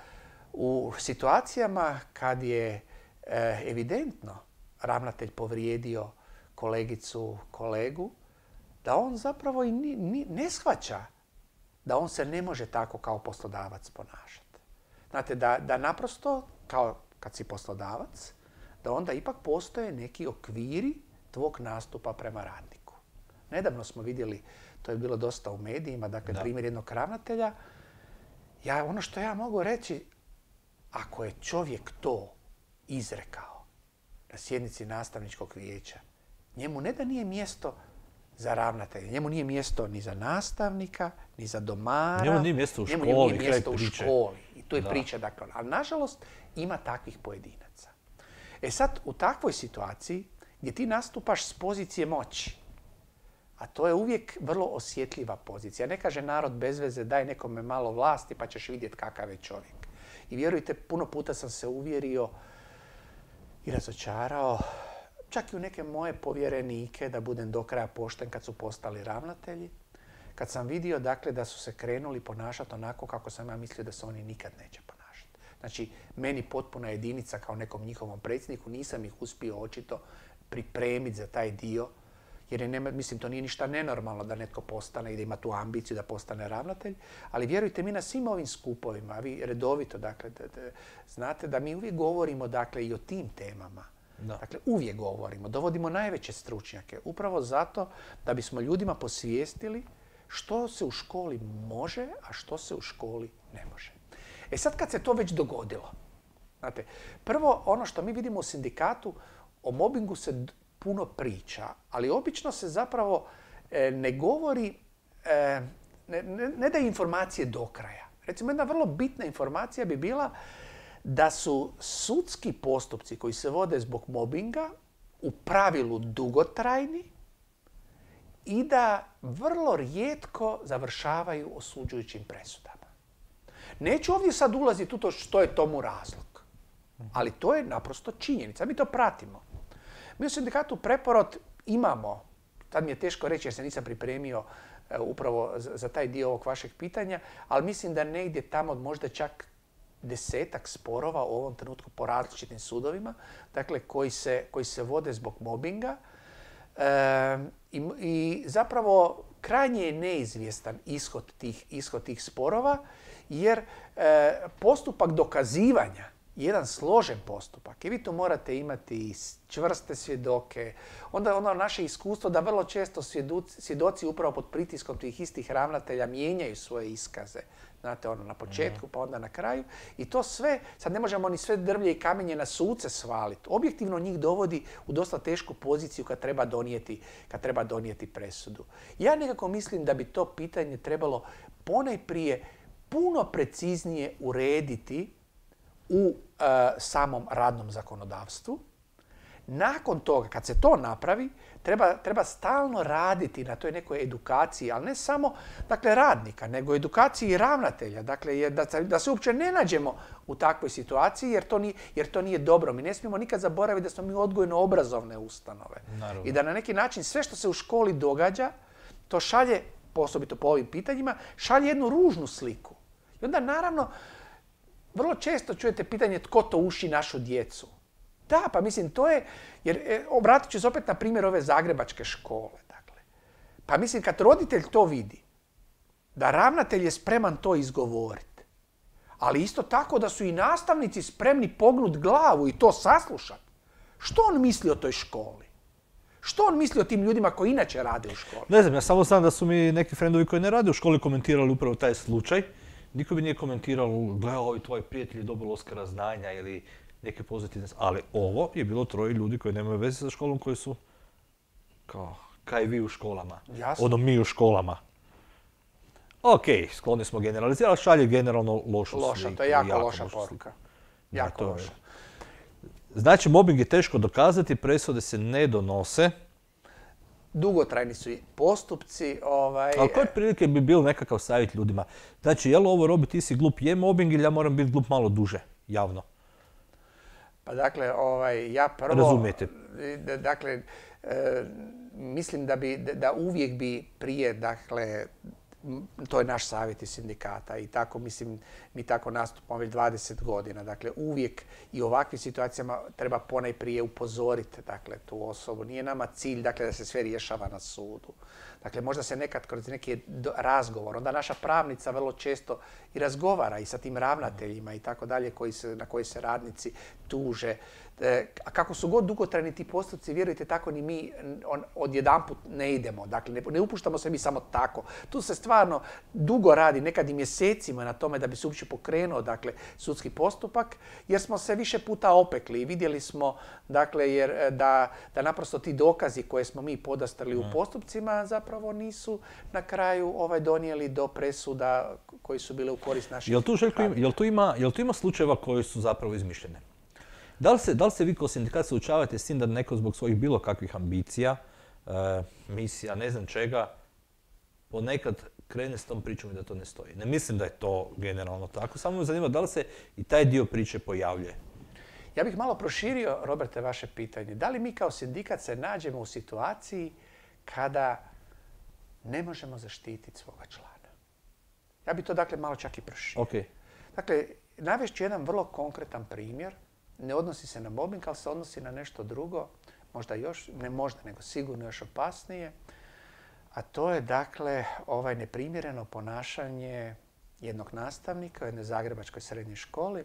u situacijama kad je e, evidentno ravnatelj povrijedio kolegicu, kolegu, da on zapravo i ni, ni, ne shvaća da on se ne može tako kao poslodavac ponašati. Znate, da, da naprosto, kao kad si poslodavac, da onda ipak postoje neki okviri tvog nastupa prema radniku. Nedavno smo vidjeli, to je bilo dosta u medijima, dakle, da. primjer jednog ravnatelja. Ja, ono što ja mogu reći, ako je čovjek to izrekao na sjednici nastavničkog vijeća, njemu ne da nije mjesto za ravnatelja, njemu nije mjesto ni za nastavnika, ni za domara. Njemu nije mjesto u školi, njemu nije mjesto u priče. školi. I tu je da. priča, dakle. Ali nažalost ima takvih pojedinaca. E sad, u takvoj situaciji gdje ti nastupaš s pozicije moći, a to je uvijek vrlo osjetljiva pozicija. Ne kaže narod bez veze daj nekome malo vlasti pa ćeš vidjeti kakav je čovjek. I vjerujte, puno puta sam se uvjerio i razočarao, čak i u neke moje povjerenike, da budem do kraja pošten kad su postali ravnatelji, kad sam vidio dakle, da su se krenuli ponašati onako kako sam ja mislio da se oni nikad neće ponašati. Znači, meni potpuna jedinica kao nekom njihovom predsjedniku, nisam ih uspio očito pripremiti za taj dio, jer je, nema, mislim, to nije ništa nenormalno da netko postane i da ima tu ambiciju da postane ravnatelj, ali vjerujte mi na svim ovim skupovima, a vi redovito, dakle, da, da, znate da mi uvijek govorimo dakle, i o tim temama. Da. Dakle, uvijek govorimo, dovodimo najveće stručnjake, upravo zato da bismo ljudima posvijestili što se u školi može, a što se u školi ne može. E sad kad se to već dogodilo, znate, prvo ono što mi vidimo u sindikatu, o mobingu se puno priča, ali obično se zapravo e, ne govori, e, ne, ne, ne daje informacije do kraja. Recimo, jedna vrlo bitna informacija bi bila da su sudski postupci koji se vode zbog mobinga u pravilu dugotrajni i da vrlo rijetko završavaju osuđujućim presudama. Neću ovdje sad ulaziti u to što je tomu razlog, ali to je naprosto činjenica. Mi to pratimo. Mi u sindikatu Preporod imamo, tad mi je teško reći jer se nisam pripremio e, upravo za, za taj dio ovog vašeg pitanja, ali mislim da negdje tamo možda čak desetak sporova u ovom trenutku po različitim sudovima, dakle koji se, koji se vode zbog mobinga. E, i, I zapravo krajnje je neizvjestan ishod tih, ishod tih sporova, jer e, postupak dokazivanja jedan složen postupak i vi tu morate imati čvrste svjedoke. Onda ono naše iskustvo da vrlo često svjedoci, svjedoci upravo pod pritiskom tih istih ravnatelja mijenjaju svoje iskaze. Znate, ono na početku pa onda na kraju. I to sve, sad ne možemo ni sve drvlje i kamenje na suce svaliti. Objektivno njih dovodi u dosta tešku poziciju kad treba donijeti, kad treba donijeti presudu. Ja nekako mislim da bi to pitanje trebalo ponajprije puno preciznije urediti u uh, samom radnom zakonodavstvu. Nakon toga, kad se to napravi, treba, treba stalno raditi na toj nekoj edukaciji, ali ne samo dakle, radnika, nego edukaciji i ravnatelja. Dakle, je, da, da se uopće ne nađemo u takvoj situaciji, jer to, nije, jer to nije dobro. Mi ne smijemo nikad zaboraviti da smo mi odgojno-obrazovne ustanove. Naravno. I da na neki način sve što se u školi događa, to šalje, osobito po ovim pitanjima, šalje jednu ružnu sliku. I onda naravno, vrlo često čujete pitanje tko to uši našu djecu. Da, pa mislim to je, jer e, obratit ću se opet na primjer ove zagrebačke škole. Dakle. Pa mislim kad roditelj to vidi, da ravnatelj je spreman to izgovoriti, ali isto tako da su i nastavnici spremni pognut glavu i to saslušati, što on misli o toj školi? Što on misli o tim ljudima koji inače rade u školi? Ne znam, ja samo znam da su mi neki frendovi koji ne rade u školi komentirali upravo taj slučaj. Niko bi nije komentirao, gledao ovi tvoji prijatelji dobili Oskara znanja ili neke pozitivne... Ali ovo je bilo troje ljudi koji nemaju veze sa školom, koji su kao, kaj vi u školama. Jasno. Ono mi u školama. Ok, skloni smo generalizirati, šalje generalno lošu sliku. Loša, to je jako, jako loša poruka. Jako da, loša. Znači, mobbing je teško dokazati, presude se ne donose. Dugotrajni su i postupci. Ovaj... Ali koje prilike bi bil nekakav savjet ljudima? Znači, je li ovo Robi, ti si glup, je mobbing ili ja moram biti glup malo duže, javno? Pa dakle, ovaj, ja prvo... Razumijete. Dakle, e, mislim da, bi, da uvijek bi prije, dakle, to je naš savjet iz sindikata i tako, mislim, mi tako nastupamo već dvadeset godina. Dakle, uvijek i u ovakvim situacijama treba ponajprije upozoriti, dakle, tu osobu. Nije nama cilj, dakle, da se sve rješava na sudu. Dakle, možda se nekad kroz neki razgovor, onda naša pravnica vrlo često i razgovara i sa tim ravnateljima i tako dalje, koji se, na koji se radnici tuže. E, a kako su god dugotrajni ti postupci, vjerujte, tako ni mi on, odjedanput ne idemo. Dakle, ne, ne upuštamo se mi samo tako. Tu se stvarno dugo radi, nekad i mjesecima na tome da bi se uopće pokrenuo, dakle, sudski postupak, jer smo se više puta opekli i vidjeli smo, dakle, jer da, da naprosto ti dokazi koje smo mi podastrli u postupcima zapravo nisu na kraju ovaj donijeli do presuda koji su bile u korist naših. Jel tu, Željko, jel tu ima, jel tu ima slučajeva koji su zapravo izmišljene? Da li se, da li se vi kao sindikat suočavate s tim da neko zbog svojih bilo kakvih ambicija, e, misija, ne znam čega, ponekad krene s tom pričom i da to ne stoji? Ne mislim da je to generalno tako, samo me zanima da li se i taj dio priče pojavljuje? Ja bih malo proširio, Roberte, vaše pitanje. Da li mi kao sindikat se nađemo u situaciji kada ne možemo zaštititi svoga člana? Ja bih to dakle malo čak i proširio. Okay. Dakle, navest ću jedan vrlo konkretan primjer. Ne odnosi se na mobbing, ali se odnosi na nešto drugo, možda još, ne možda, nego sigurno još opasnije. A to je dakle ovaj neprimjereno ponašanje jednog nastavnika u jednoj zagrebačkoj srednjoj školi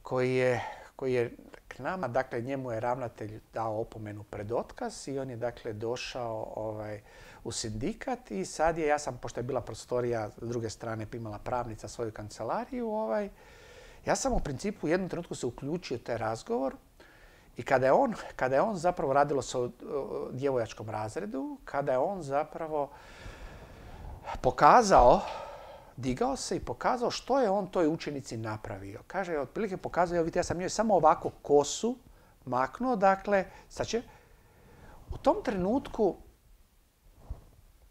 koji je, koji je k nama, dakle njemu je ravnatelj dao opomenu pred otkaz i on je dakle došao ovaj, u sindikat i sad je, ja sam, pošto je bila prostorija s druge strane, imala pravnica svoju kancelariju, ovaj, ja sam u principu u jednom trenutku se uključio u taj razgovor i kada je on, kada je on zapravo, radilo se o djevojačkom razredu, kada je on zapravo pokazao, digao se i pokazao što je on toj učenici napravio. Kaže, otprilike pokazao, evo vidite, ja sam njoj samo ovako kosu maknuo, dakle, sad će, u tom trenutku,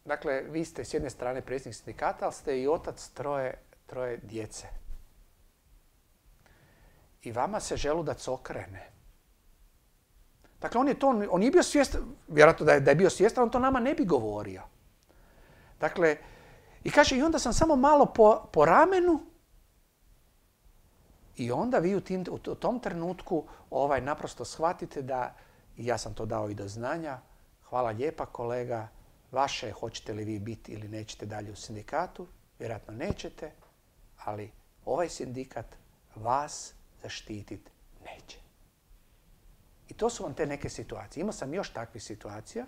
dakle, vi ste s jedne strane predsjednik sindikata, ali ste i otac troje, troje djece. I vama se želudac okrene. Dakle, on je to, on nije bio svjestan, vjerojatno da je, da je bio svjestan, on to nama ne bi govorio. Dakle, i kaže, i onda sam samo malo po, po ramenu i onda vi u, tim, u tom trenutku ovaj, naprosto shvatite da, i ja sam to dao i do znanja, hvala lijepa kolega, vaše hoćete li vi biti ili nećete dalje u sindikatu, vjerojatno nećete, ali ovaj sindikat vas zaštititi? Neće. I to su vam te neke situacije. Imao sam još takvih situacija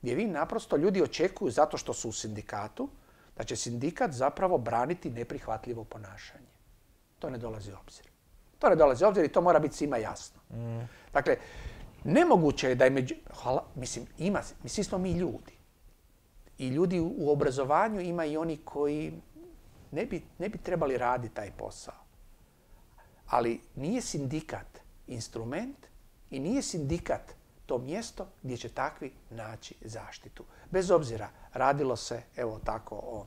gdje vi naprosto ljudi očekuju zato što su u sindikatu da će sindikat zapravo braniti neprihvatljivo ponašanje. To ne dolazi u obzir. To ne dolazi u obzir i to mora biti svima jasno. Mm. Dakle, nemoguće je da je među... Hvala, mislim, ima, svi smo mi ljudi. I ljudi u obrazovanju ima i oni koji ne bi, ne bi trebali raditi taj posao. Ali nije sindikat instrument i nije sindikat to mjesto gdje će takvi naći zaštitu. Bez obzira, radilo se, evo tako, o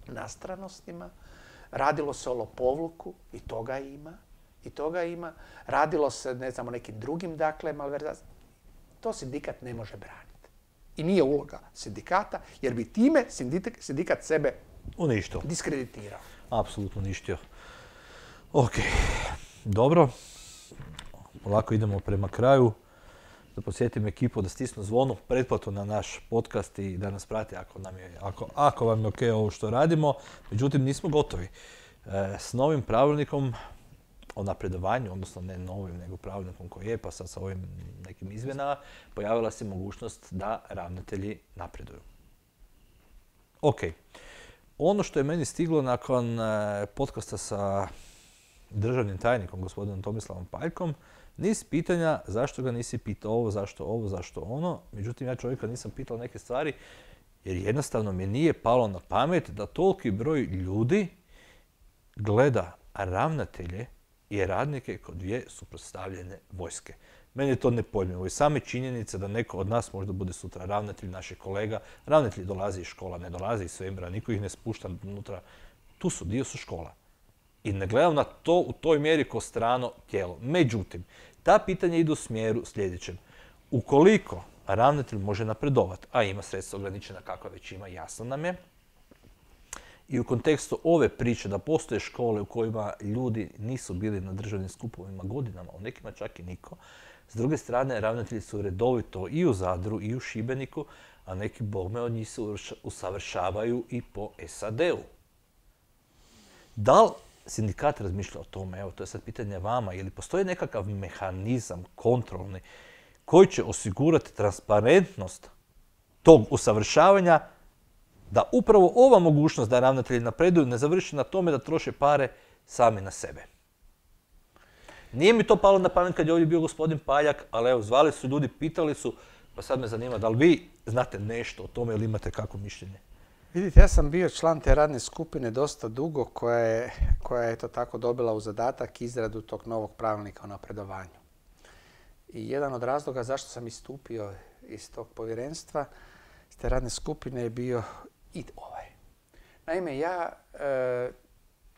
nastranostima, radilo se o lopovluku, i toga ima, i toga ima. Radilo se, ne znam, o nekim drugim, dakle, malverzacijama. To sindikat ne može braniti. I nije uloga sindikata, jer bi time sindikat, sindikat sebe uništio, diskreditirao. Apsolutno uništio. Ok, dobro. Polako idemo prema kraju. Da posjetim ekipu da stisnu zvonu, pretplatu na naš podcast i da nas prati ako, nam je, ako, ako vam je ok ovo što radimo. Međutim, nismo gotovi. E, s novim pravilnikom o napredovanju, odnosno ne novim, nego pravilnikom koji je, pa sad sa ovim nekim izmjenama, pojavila se mogućnost da ravnatelji napreduju. Ok. Ono što je meni stiglo nakon podcasta sa državnim tajnikom, gospodinom Tomislavom Paljkom, niz pitanja zašto ga nisi pitao ovo, zašto ovo, zašto ono. Međutim, ja čovjeka nisam pitao neke stvari jer jednostavno mi nije palo na pamet da toliki broj ljudi gleda ravnatelje i radnike kod dvije suprotstavljene vojske. Meni je to nepojmljivo i same činjenice da neko od nas možda bude sutra ravnatelj, naših kolega. Ravnatelji dolazi iz škola, ne dolazi iz svemira, niko ih ne spušta unutra. Tu su, dio su škola. I ne gledam na to u toj mjeri ko strano tijelo. Međutim, ta pitanja idu u smjeru sljedećem. Ukoliko ravnatelj može napredovati, a ima sredstva ograničena kakva već ima, jasno nam je, i u kontekstu ove priče da postoje škole u kojima ljudi nisu bili na državnim skupovima godinama, u nekima čak i niko, s druge strane, ravnatelji su redovito i u Zadru i u Šibeniku, a neki bogme od njih se usavršavaju i po es a de u. Da li sindikat razmišlja o tome? Evo, to je sad pitanje vama. Ili postoji nekakav mehanizam kontrolni koji će osigurati transparentnost tog usavršavanja, da upravo ova mogućnost da ravnatelji napreduju ne završi na tome da troše pare sami na sebe? Nije mi to palo na pamet kad je ovdje bio gospodin Paljak, ali evo, zvali su ljudi, pitali su, pa sad me zanima da li vi znate nešto o tome ili imate kakvo mišljenje? Vidite, ja sam bio član te radne skupine dosta dugo koja je, koja je to tako dobila u zadatak izradu tog novog pravilnika o napredovanju. I jedan od razloga zašto sam istupio iz tog povjerenstva, iz te radne skupine je bio i ovaj. Naime, ja e,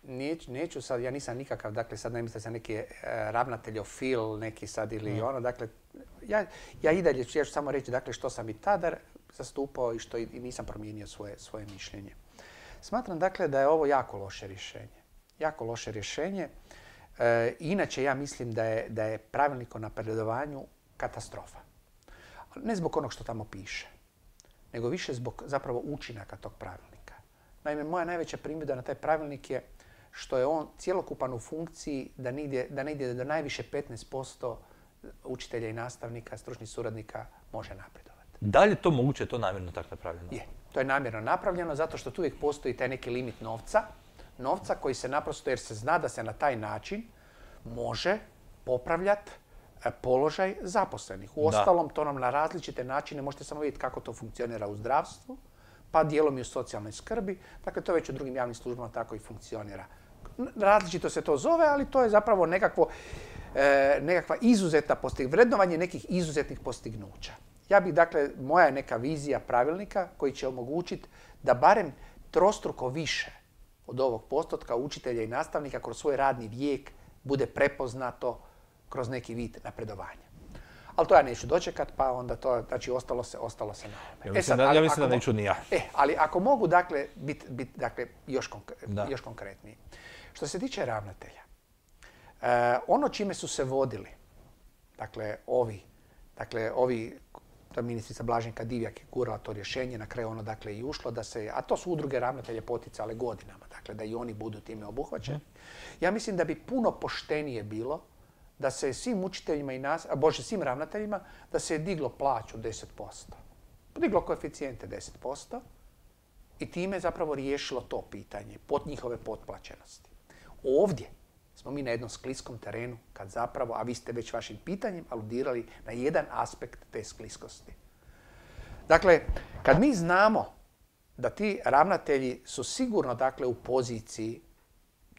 neću, neću sad, ja nisam nikakav, dakle sad ne mislim da sam neki e, ravnateljofil, neki sad ili mm. ono, dakle, ja, ja i dalje ću, ja ću samo reći dakle što sam i tada zastupao i što i nisam promijenio svoje, svoje mišljenje. Smatram dakle da je ovo jako loše rješenje. Jako loše rješenje. E, inače ja mislim da je, da je pravilnik o napredovanju katastrofa. Ne zbog onog što tamo piše, nego više zbog zapravo učinaka tog pravilnika. Naime, moja najveća primjedba na taj pravilnik je što je on cjelokupan u funkciji da ne ide, da ne ide do najviše petnaest posto učitelja i nastavnika, stručnih suradnika može napredovati. Da li je to moguće, je to namjerno tako napravljeno? Je, to je namjerno napravljeno zato što tu uvijek postoji taj neki limit novca, novca koji se naprosto, jer se zna da se na taj način može popravljati položaj zaposlenih. U ostalom, to nam na različite načine, možete samo vidjeti kako to funkcionira u zdravstvu, pa dijelom i u socijalnoj skrbi. Dakle, to već u drugim javnim službama tako i funkcionira. Različito se to zove, ali to je zapravo nekakvo, e, nekakva izuzetna postignuća, vrednovanje nekih izuzetnih postignuća. Ja bih, dakle, moja je neka vizija pravilnika koji će omogućiti da barem trostruko više od ovog postotka učitelja i nastavnika kroz svoj radni vijek bude prepoznato kroz neki vid napredovanja. Ali to ja neću dočekat, pa onda to, znači, ostalo se, ostalo se na ovome. Ja mislim, e sad, da, ja mislim da neću ni ja. E, ali ako mogu, dakle, biti bit, dakle, još, konkre, još konkretniji. Što se tiče ravnatelja, e, ono čime su se vodili, dakle, ovi, dakle, ovi to je ministrica Blaženka Divjak je gurala to rješenje, na kraju ono dakle i ušlo, da se, a to su udruge ravnatelje poticale godinama, dakle da i oni budu time obuhvaćeni. Ja mislim da bi puno poštenije bilo da se svim učiteljima i nas, a bože svim ravnateljima, da se je diglo plaću deset posto. Podiglo koeficijente deset posto i time zapravo riješilo to pitanje pod njihove potplaćenosti. Ovdje smo mi na jednom skliskom terenu kad zapravo, a vi ste već vašim pitanjem aludirali na jedan aspekt te skliskosti. Dakle, kad mi znamo da ti ravnatelji su sigurno dakle u poziciji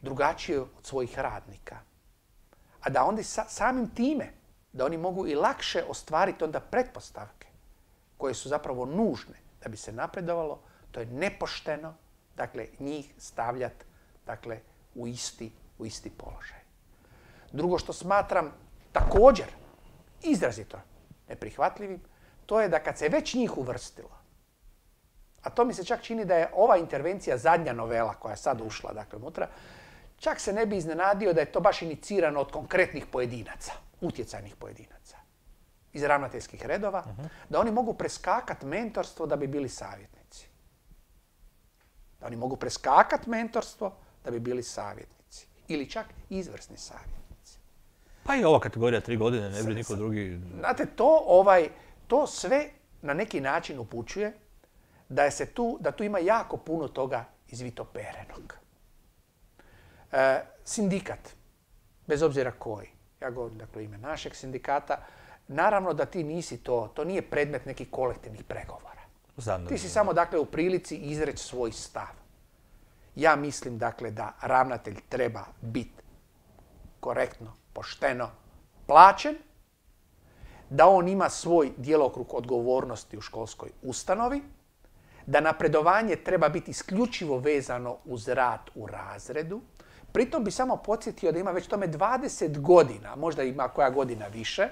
drugačije od svojih radnika, a da onda sa, samim time da oni mogu i lakše ostvariti onda pretpostavke koje su zapravo nužne da bi se napredovalo, to je nepošteno, dakle, njih stavljati dakle, u isti, u isti položaj. Drugo što smatram također izrazito neprihvatljivim, to je da kad se već njih uvrstilo, a to mi se čak čini da je ova intervencija zadnja novela koja je sad ušla dakle, unutra, čak se ne bi iznenadio da je to baš inicirano od konkretnih pojedinaca, utjecajnih pojedinaca iz ravnateljskih redova, uh-huh. da oni mogu preskakati mentorstvo da bi bili savjetnici. Da oni mogu preskakati mentorstvo da bi bili savjetnici. Ili čak izvrsni savjetnici. Pa i ova kategorija tri godine, ne bi niko drugi... Znate, to, ovaj, to sve na neki način upućuje da, je se tu, da tu ima jako puno toga izvitoperenog. E, sindikat, bez obzira koji, ja govorim dakle ime našeg sindikata, naravno da ti nisi to, to nije predmet nekih kolektivnih pregovora. Znam, ti si samo dakle u prilici izreći svoj stav. Ja mislim dakle da ravnatelj treba biti korektno, pošteno plaćen, da on ima svoj djelokrug odgovornosti u školskoj ustanovi, da napredovanje treba biti isključivo vezano uz rad u razredu. Pritom bi samo podsjetio da ima već tome dvadeset godina, možda ima koja godina više,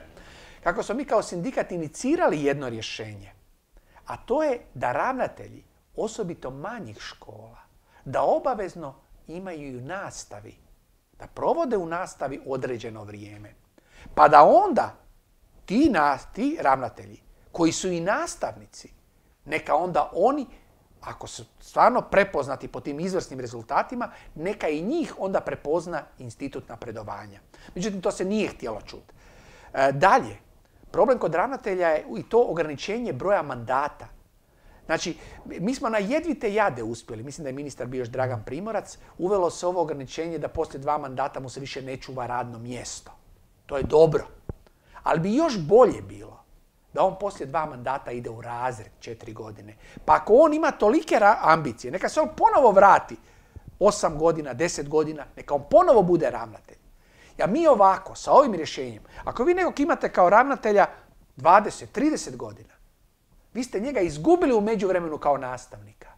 kako smo mi kao sindikat inicirali jedno rješenje. A to je da ravnatelji, osobito manjih škola, da obavezno imaju i u nastavi, da provode u nastavi određeno vrijeme. Pa da onda ti, na, ti ravnatelji, koji su i nastavnici, neka onda oni, ako su stvarno prepoznati po tim izvrsnim rezultatima, neka i njih onda prepozna institut napredovanja. Međutim, to se nije htjelo čuti. E, dalje, problem kod ravnatelja je i to ograničenje broja mandata. Znači, mi smo na jedvite jade uspjeli, mislim da je ministar bio još Dragan Primorac, uvelo se ovo ograničenje da poslije dva mandata mu se više ne čuva radno mjesto. To je dobro. Ali bi još bolje bilo da on poslije dva mandata ide u razred četiri godine. Pa ako on ima tolike ambicije, neka se on ponovo vrati osam godina, deset godina, neka on ponovo bude ravnatelj. Ja mi ovako, sa ovim rješenjem, ako vi nekog imate kao ravnatelja dvadeset, trideset godina, vi ste njega izgubili u međuvremenu kao nastavnika.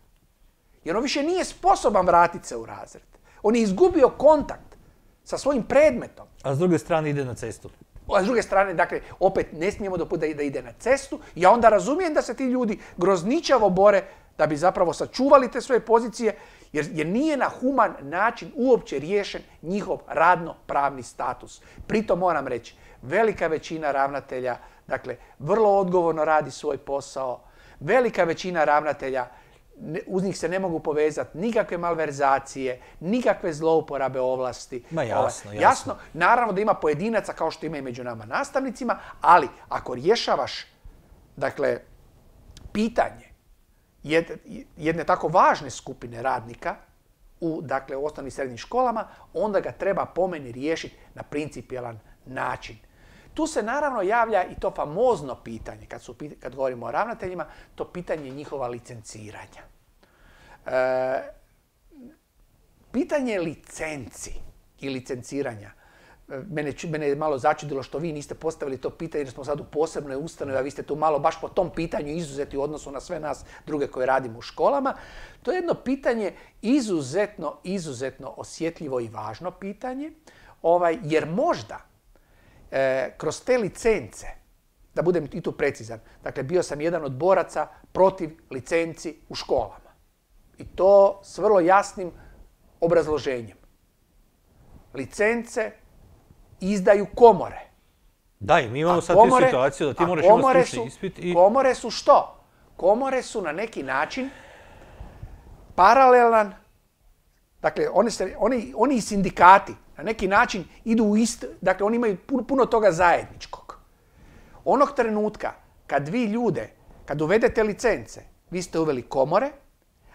Jer on više nije sposoban vratiti se u razred. On je izgubio kontakt sa svojim predmetom. A s druge strane ide na cestu. A s druge strane, dakle, opet ne smijemo dopustiti da ide na cestu. Ja onda razumijem da se ti ljudi grozničavo bore da bi zapravo sačuvali te svoje pozicije, jer, jer nije na human način uopće riješen njihov radno-pravni status. Pritom moram reći, velika većina ravnatelja, dakle, vrlo odgovorno radi svoj posao. Velika većina ravnatelja, uz njih se ne mogu povezati nikakve malverzacije, nikakve zlouporabe ovlasti. Ma jasno, jasno. Jasno, naravno da ima pojedinaca kao što ima i među nama nastavnicima, ali ako rješavaš, dakle, pitanje jedne tako važne skupine radnika u, dakle, u osnovnim i srednjim školama, onda ga treba po meni riješiti na principijelan način. Tu se naravno javlja i to famozno pitanje, kad, su, kad govorimo o ravnateljima, to pitanje njihova licenciranja. E, pitanje licenci i licenciranja. Mene, mene je malo začudilo što vi niste postavili to pitanje jer smo sad u posebnoj ustanovi, a vi ste tu malo baš po tom pitanju izuzeti u odnosu na sve nas druge koje radimo u školama. To je jedno pitanje izuzetno, izuzetno osjetljivo i važno pitanje, ovaj, jer možda E, kroz te licence, da budem i tu precizan, dakle bio sam jedan od boraca protiv licenci u školama. I to s vrlo jasnim obrazloženjem. Licence izdaju komore. Da, i mi imamo A sad komore- tu situaciju da ti a moraš imati komore stručni su- ispit i... Komore su što? Komore su na neki način paralelan, dakle, oni, se, oni, oni i sindikati na neki način idu u isto, dakle, oni imaju puno, puno toga zajedničkog. Onog trenutka kad vi ljude, kad uvedete licence, vi ste uveli komore,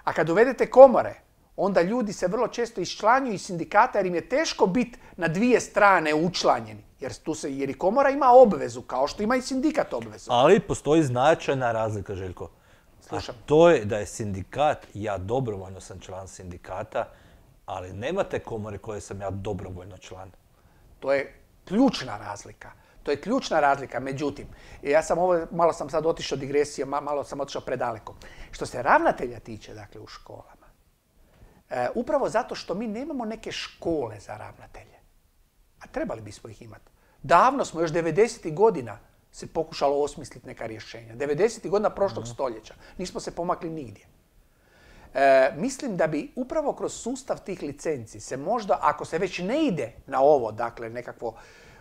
a kad uvedete komore, onda ljudi se vrlo često iščlanjuju iz sindikata jer im je teško biti na dvije strane učlanjeni. Jer, tu se, jer i komora ima obvezu, kao što ima i sindikat obvezu. Ali postoji značajna razlika, Željko. Slušam. A to je da je sindikat, ja dobrovoljno sam član sindikata, ali nemate komore koje sam ja dobrovoljno član. To je ključna razlika. To je ključna razlika. Međutim, ja sam ovo, malo sam sad otišao digresija, malo sam otišao predaleko. Što se ravnatelja tiče, dakle, u školama, e, upravo zato što mi nemamo neke škole za ravnatelje, a trebali bismo ih imati. Davno smo, još devedesetih godina, se pokušalo osmisliti neka rješenja. devedesetih godina prošlog stoljeća. Nismo se pomakli nigdje. E, mislim da bi upravo kroz sustav tih licenci se možda, ako se već ne ide na ovo, dakle, nekakvo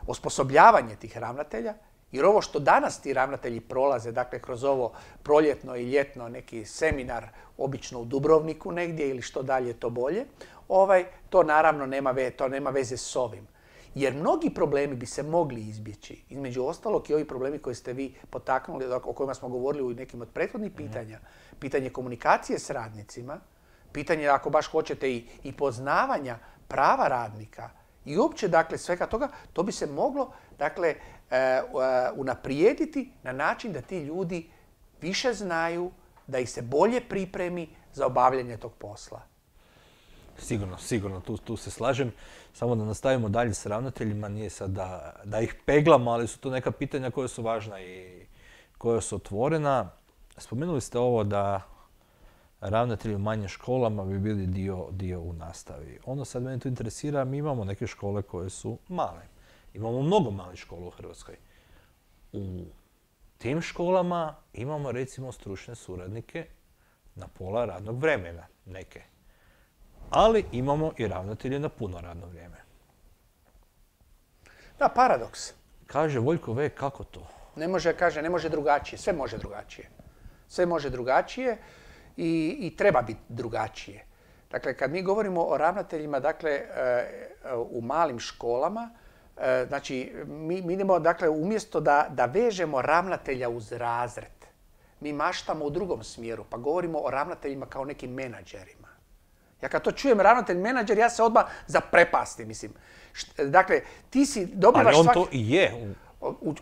osposobljavanje tih ravnatelja, jer ovo što danas ti ravnatelji prolaze, dakle, kroz ovo proljetno i ljetno neki seminar, obično u Dubrovniku negdje ili što dalje to bolje, ovaj, to naravno nema, ve, to nema veze s ovim. Jer mnogi problemi bi se mogli izbjeći. Između ostalog i ovi problemi koje ste vi potaknuli, o kojima smo govorili u nekim od prethodnih pitanja, pitanje komunikacije s radnicima, pitanje, ako baš hoćete, i, i poznavanja prava radnika i uopće, dakle, svega toga, to bi se moglo, dakle, e, unaprijediti na način da ti ljudi više znaju, da ih se bolje pripremi za obavljanje tog posla. Sigurno, sigurno, tu, tu se slažem. Samo da nastavimo dalje s ravnateljima, nije sad da, da ih peglamo, ali su to neka pitanja koja su važna i koja su otvorena. Spomenuli ste ovo da ravnatelji u manjim školama bi bili dio, dio u nastavi. Ono sad mene tu interesira, mi imamo neke škole koje su male. Imamo mnogo malih škola u Hrvatskoj. U tim školama imamo, recimo, stručne suradnike na pola radnog vremena, neke. Ali imamo i ravnatelje na puno radno vrijeme. Da, paradoks. Kaže Voljko V, kako to? Ne može, kaže, ne može drugačije. Sve može drugačije. Sve može drugačije i, i treba biti drugačije. Dakle, kad mi govorimo o ravnateljima, dakle, u malim školama, znači, mi, mi idemo, dakle, umjesto da, da vežemo ravnatelja uz razred, mi maštamo u drugom smjeru, pa govorimo o ravnateljima kao nekim menadžerima. Ja kad to čujem ravnatelj menadžer, ja se odmah zaprepastim, mislim. Dakle, ti si dobivaš ali on svaki... to i je.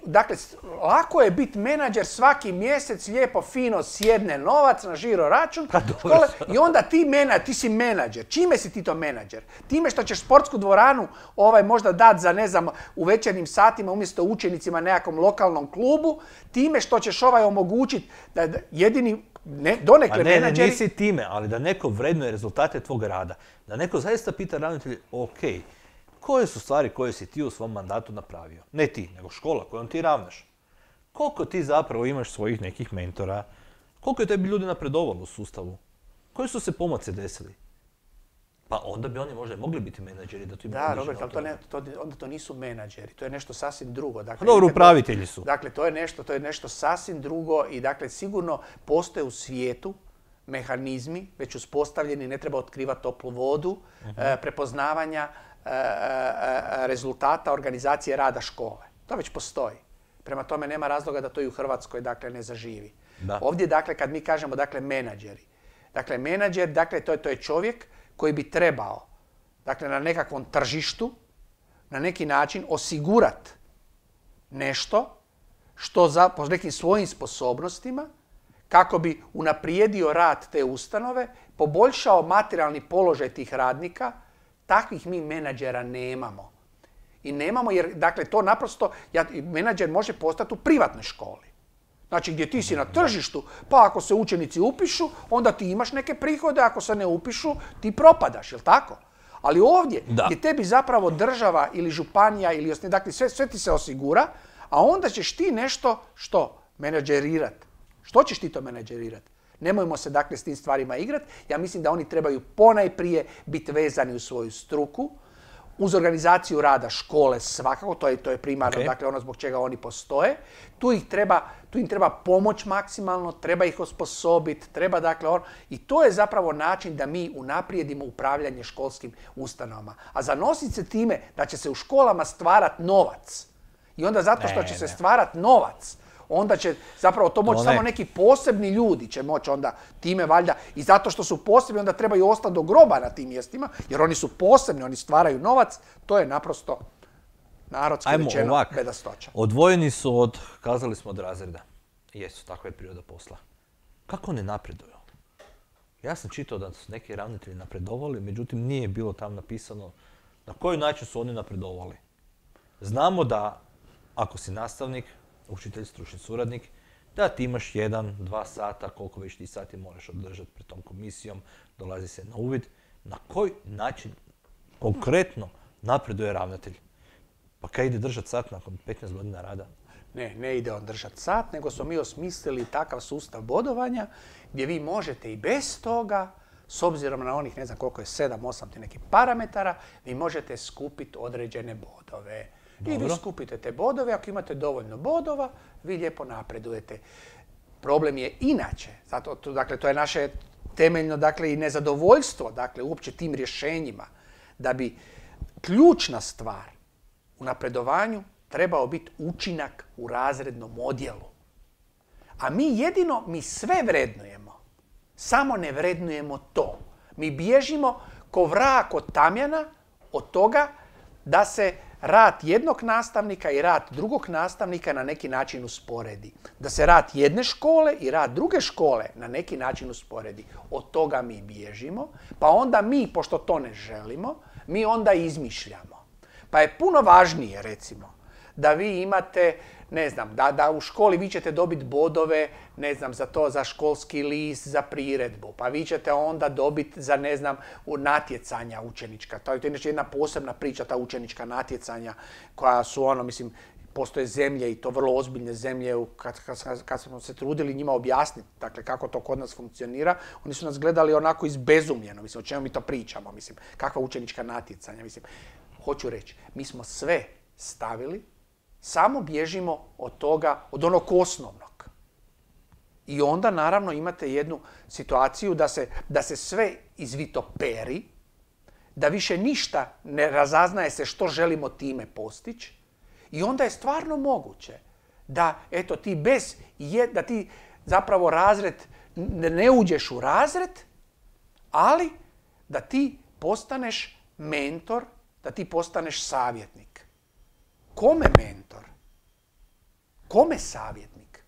Dakle, lako je biti menadžer, svaki mjesec lijepo, fino sjedne novac na žiro račun škole, i onda ti, mena, ti si menadžer. Čime si ti to menadžer? Time što ćeš sportsku dvoranu ovaj, možda dati za, ne znam, u večernjim satima umjesto učenicima nekakvom lokalnom klubu, time što ćeš ovaj omogućiti da jedini ne, donekle ne, menadžeri... Ne, nisi time, ali da neko vrednuje rezultate tvog rada. Da neko zaista pita ravnatelje, ok, koje su stvari koje si ti u svom mandatu napravio? Ne ti, nego škola kojom ti ravnaš. Koliko ti zapravo imaš svojih nekih mentora? Koliko je tebi ljudi napredovalo u sustavu? Koji su se pomaci desili? Pa onda bi oni možda mogli biti menadžeri da tu imaju. Da, Robert, ali to ne, to, onda to nisu menadžeri, to je nešto sasvim drugo. Dakle, dobro, upravitelji su. Dakle, to je nešto, to je nešto sasvim drugo i dakle, sigurno postoje u svijetu mehanizmi već uspostavljeni, ne treba otkrivati toplu vodu, uh-huh. e, prepoznavanja e, e, rezultata organizacije rada škole. To već postoji. Prema tome nema razloga da to i u Hrvatskoj, dakle, ne zaživi. Da. Ovdje, dakle, kad mi kažemo, dakle, menadžeri. Dakle, menadžer, dakle, to je, to je čovjek koji bi trebao, dakle, na nekakvom tržištu, na neki način osigurati nešto što za, po nekim svojim sposobnostima, kako bi unaprijedio rad te ustanove, poboljšao materijalni položaj tih radnika. Takvih mi menadžera nemamo. I nemamo jer, dakle, to naprosto, ja, menadžer može postati u privatnoj školi. Znači, gdje ti si na tržištu, pa ako se učenici upišu, onda ti imaš neke prihode, ako se ne upišu, ti propadaš, jel tako? Ali ovdje, da. Gdje tebi zapravo država ili županija, ili osni, dakle, sve, sve ti se osigura, a onda ćeš ti nešto, što? Menadžerirati. Što ćeš ti to menadžerirati? Nemojmo se, dakle, s tim stvarima igrati. Ja mislim da oni trebaju ponajprije biti vezani u svoju struku, uz organizaciju rada škole svakako, to je, to je primarno, okay. dakle ono zbog čega oni postoje. Tu, ih treba, tu im treba pomoć maksimalno, treba ih osposobiti, treba dakle on, i to je zapravo način da mi unaprijedimo upravljanje školskim ustanovama. A zanositi se time da će se u školama stvarati novac i onda zato što ne, će ne. se stvarati novac, onda će zapravo to moći samo neki posebni ljudi će moći onda time valjda i zato što su posebni onda trebaju ostati do groba na tim mjestima jer oni su posebni, oni stvaraju novac, to je naprosto narodski Ajmo, rečeno ovak. bedastoća. Odvojeni su od, kazali smo od razreda. Jesu, takva je priroda posla. Kako ne napreduju? Ja sam čitao da su neki ravnatelji napredovali, međutim nije bilo tam napisano na koji način su oni napredovali. Znamo da ako si nastavnik, učitelj, stručni suradnik, da ti imaš jedan, dva sata, koliko već ti sati moraš održati pred tom komisijom, dolazi se na uvid. Na koji način konkretno napreduje ravnatelj? Pa kaj ide držati sat nakon petnaest godina rada? Ne, ne ide on držati sat, nego smo mi osmislili takav sustav bodovanja gdje vi možete i bez toga, s obzirom na onih, ne znam koliko je, sedam, osam ti nekih parametara, vi možete skupiti određene bodove. Dobro. I vi skupite te bodove, ako imate dovoljno bodova, vi lijepo napredujete. Problem je inače, zato, to, dakle, to je naše temeljno dakle, i nezadovoljstvo dakle, uopće tim rješenjima, da bi ključna stvar u napredovanju trebao biti učinak u razrednom odjelu. A mi jedino, mi sve vrednujemo, samo ne vrednujemo to. Mi bježimo ko vrak od tamjana od toga da se rad jednog nastavnika i rad drugog nastavnika na neki način usporedi. Da se rad jedne škole i rad druge škole na neki način usporedi. Od toga mi bježimo, pa onda mi, pošto to ne želimo, mi onda izmišljamo. Pa je puno važnije, recimo, da vi imate, ne znam, da, da u školi vi ćete dobiti bodove, ne znam, za to, za školski list, za priredbu. Pa vi ćete onda dobiti za, ne znam, natjecanja učenička. To je inače jedna posebna priča, ta učenička natjecanja koja su ono, mislim, postoje zemlje i to vrlo ozbiljne zemlje, kad, kad, kad smo se trudili njima objasniti, dakle, kako to kod nas funkcionira, oni su nas gledali onako izbezumljeno, mislim, o čemu mi to pričamo, mislim, kakva učenička natjecanja, mislim. Hoću reći, mi smo sve stavili, samo bježimo od toga, od onog osnovnog. I onda naravno imate jednu situaciju da se, da se sve izvitoperi, da više ništa ne razaznaje se što želimo time postići i onda je stvarno moguće da eto ti bez, da ti zapravo razred, ne uđeš u razred, ali da ti postaneš mentor, da ti postaneš savjetnik. Kome mentor? Kome savjetnik?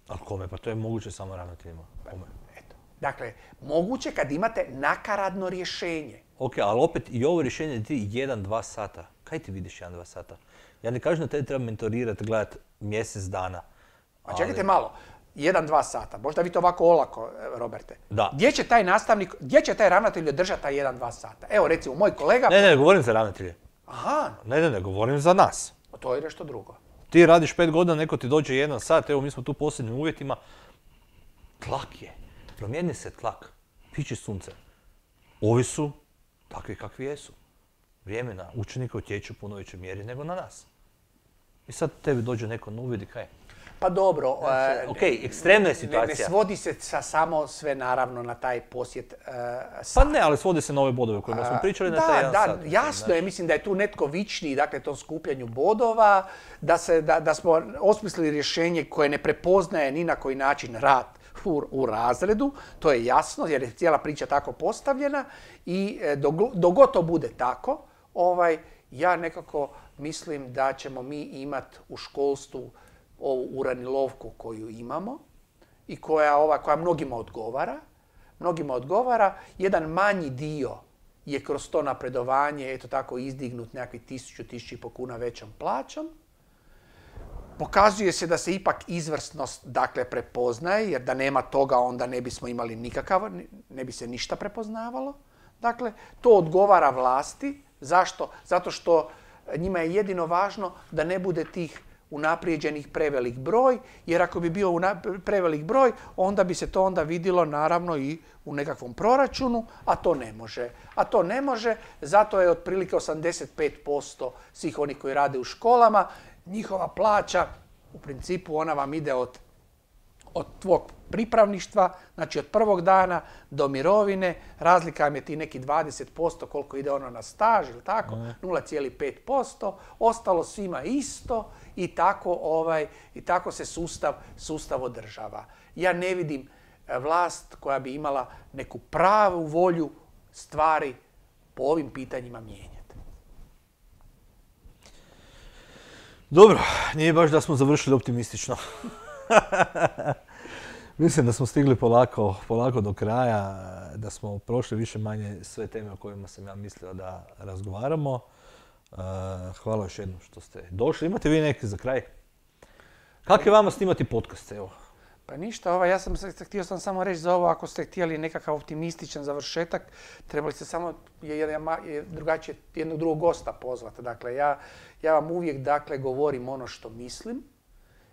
A kome? Pa to je moguće samo ravnateljima. Kome? Eto. Dakle, moguće kad imate nakaradno rješenje. Ok, ali opet i ovo rješenje ti jedan, dva sata. Kaj ti vidiš jedan, dva sata? Ja ne kažem da te treba mentorirati, gledati mjesec dana. A čekajte ali... malo. Jedan, dva sata. Možda vi to ovako olako, Roberte. Da. Gdje će taj nastavnik, gdje će taj ravnatelj održati taj jedan, dva sata? Evo, recimo, moj kolega... Ne, ne, ne govorim za ravnatelje. Aha. Ne, ne, ne, govorim za nas. O, to je nešto drugo. Ti radiš pet godina, neko ti dođe jedan sat, evo mi smo tu u posljednjim uvjetima. Tlak je. Promijeni se tlak. Piči sunce. Ovi su takvi kakvi jesu. Vrijeme na učenika utječe u puno većoj mjeri nego na nas. I sad tebi dođe neko na uvid i kaj? Pa dobro. Znači, ok, ekstremna je situacija. Ne, ne svodi se sa samo sve naravno na taj posjet uh, sat. Pa ne, ali svodi se na ove bodove o kojima smo pričali na taj jedan da, sat. Da, jasno znači. je, mislim da je tu netko vičniji, dakle, tom skupljanju bodova, da, se, da, da smo osmislili rješenje koje ne prepoznaje ni na koji način rad u, u razredu, to je jasno, jer je cijela priča tako postavljena i dok, dok god to bude tako, ovaj, ja nekako mislim da ćemo mi imati u školstvu ovu uranilovku koju imamo i koja, ova, koja mnogima odgovara. Mnogima odgovara. Jedan manji dio je kroz to napredovanje, eto tako, izdignut nekakvih tisuću, tisuću i po kuna većom plaćom. Pokazuje se da se ipak izvrsnost dakle prepoznaje, jer da nema toga onda ne bismo imali nikakav, ne bi se ništa prepoznavalo. Dakle, to odgovara vlasti. Zašto? Zato što njima je jedino važno da ne bude tih unaprijeđenih prevelik broj, jer ako bi bio prevelik broj, onda bi se to onda vidjelo naravno i u nekakvom proračunu, a to ne može. A to ne može, zato je otprilike osamdeset pet posto svih onih koji rade u školama, njihova plaća, u principu ona vam ide od, od tvog pripravništva, znači od prvog dana do mirovine, razlika vam je ti neki dvadeset posto koliko ide ono na staž ili tako, nula zarez pet posto, ostalo svima isto i tako, ovaj, i tako se sustav, sustav održava. Ja ne vidim vlast koja bi imala neku pravu volju stvari po ovim pitanjima mijenjati. Dobro, nije baš da smo završili optimistično. Mislim da smo stigli polako, polako do kraja, da smo prošli više manje sve teme o kojima sam ja mislio da razgovaramo. Hvala još jednom što ste došli. Imate vi neki za kraj? Kako je vama snimati podcast, evo? Pa ništa, ovaj, ja sam htio sam samo reći za ovo, ako ste htjeli nekakav optimističan završetak, trebali ste samo drugačije jednog drugog gosta pozvati. Dakle, ja, ja vam uvijek dakle, govorim ono što mislim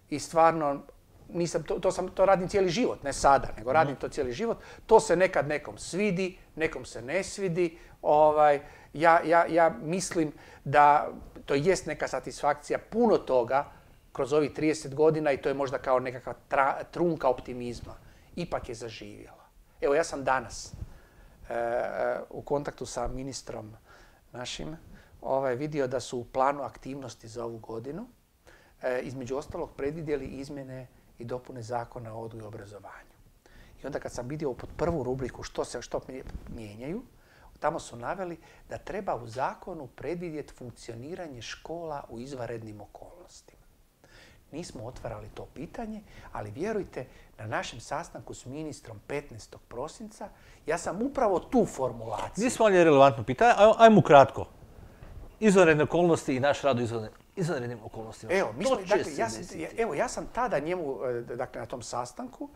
i stvarno nisam, to, to, sam, to radim cijeli život, ne sada, nego radim to cijeli život. To se nekad nekom svidi, nekom se ne svidi. Ovaj, ja, ja, ja mislim da to jest neka satisfakcija puno toga kroz ovih trideset godina i to je možda kao nekakva tra, trunka optimizma. Ipak je zaživjela. Evo, ja sam danas e, e, u kontaktu sa ministrom našim ovaj, vidio da su u planu aktivnosti za ovu godinu e, između ostalog predvidjeli izmjene i dopune zakona o odgoju i obrazovanju. I onda kad sam vidio pod prvu rubriku što se što mijenjaju, tamo su naveli da treba u zakonu predvidjeti funkcioniranje škola u izvanrednim okolnostima. Nismo otvarali to pitanje, ali vjerujte, na našem sastanku s ministrom petnaestog prosinca ja sam upravo tu formulaciju. Nismo ali relevantno pitanje, ajmo kratko. Izvanredne okolnosti i naš rad u izvanrednim okolnostima. Evo, mi smo, dakle, ja sam, evo, ja sam tada njemu, dakle, na tom sastanku,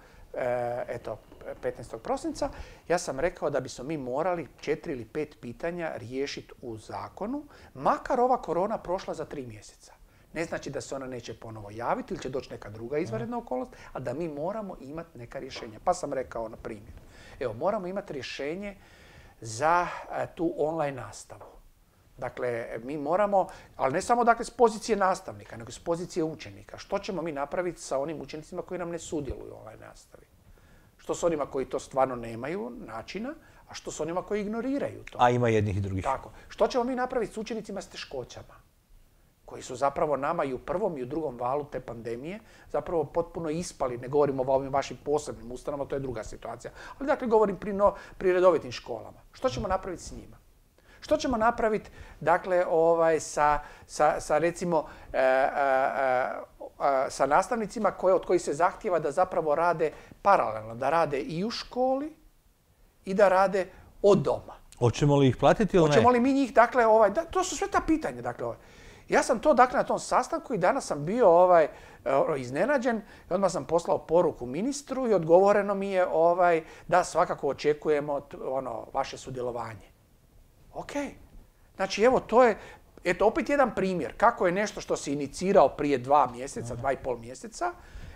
eto, petnaestog prosinca, ja sam rekao da bismo mi morali četiri ili pet pitanja riješiti u zakonu, makar ova korona prošla za tri mjeseca. Ne znači da se ona neće ponovo javiti ili će doći neka druga izvanredna okolnost, a da mi moramo imati neka rješenja. Pa sam rekao, na primjer, evo, moramo imati rješenje za tu online nastavu. Dakle, mi moramo, ali ne samo dakle, s pozicije nastavnika, nego s pozicije učenika. Što ćemo mi napraviti sa onim učenicima koji nam ne sudjeluju u online nastavi? Što s onima koji to stvarno nemaju načina, a što s onima koji ignoriraju to? A ima jednih i drugih. Tako. Što ćemo mi napraviti s učenicima s teškoćama? Koji su zapravo nama i u prvom i u drugom valu te pandemije zapravo potpuno ispali, ne govorimo o ovim vašim posebnim ustanovama, to je druga situacija. Ali dakle govorim pri, no, pri redovitim školama. Što ćemo napraviti s njima? Što ćemo napraviti dakle, ovaj, sa, sa, sa recimo e, e, e, sa nastavnicima koje, od kojih se zahtijeva da zapravo rade paralelno, da rade i u školi i da rade od doma? Hoćemo li ih platiti ili ne? Hoćemo li mi njih, dakle, ovaj, da, to su sve ta pitanja, dakle, ovaj. Ja sam to dakle na tom sastanku i danas sam bio ovaj, iznenađen i odmah sam poslao poruku ministru i odgovoreno mi je ovaj, da svakako očekujemo ono, vaše sudjelovanje. Ok. Znači evo to je eto, opet jedan primjer kako je nešto što se inicirao prije dva mjeseca, dva i pol mjeseca.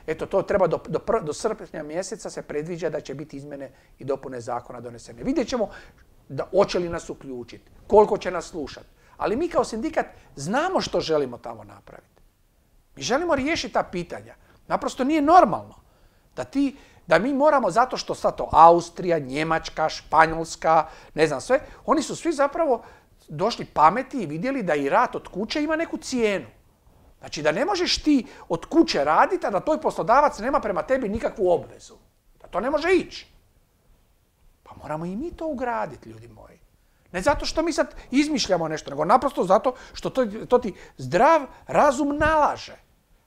Eto to treba do, do, do srpnja mjeseca se predviđa da će biti izmjene i dopune zakona donesene. Vidjet ćemo da hoće li nas uključiti, koliko će nas slušati. Ali mi kao sindikat znamo što želimo tamo napraviti. Mi želimo riješiti ta pitanja. Naprosto nije normalno da, ti, da mi moramo, zato što sad to Austrija, Njemačka, Španjolska, ne znam sve, oni su svi zapravo došli pameti i vidjeli da i rad od kuće ima neku cijenu. Znači da ne možeš ti od kuće raditi, a da tvoj poslodavac nema prema tebi nikakvu obvezu. Da to ne može ići. Pa moramo i mi to ugraditi, ljudi moji. Ne zato što mi sad izmišljamo nešto, nego naprosto zato što to, to ti zdrav razum nalaže.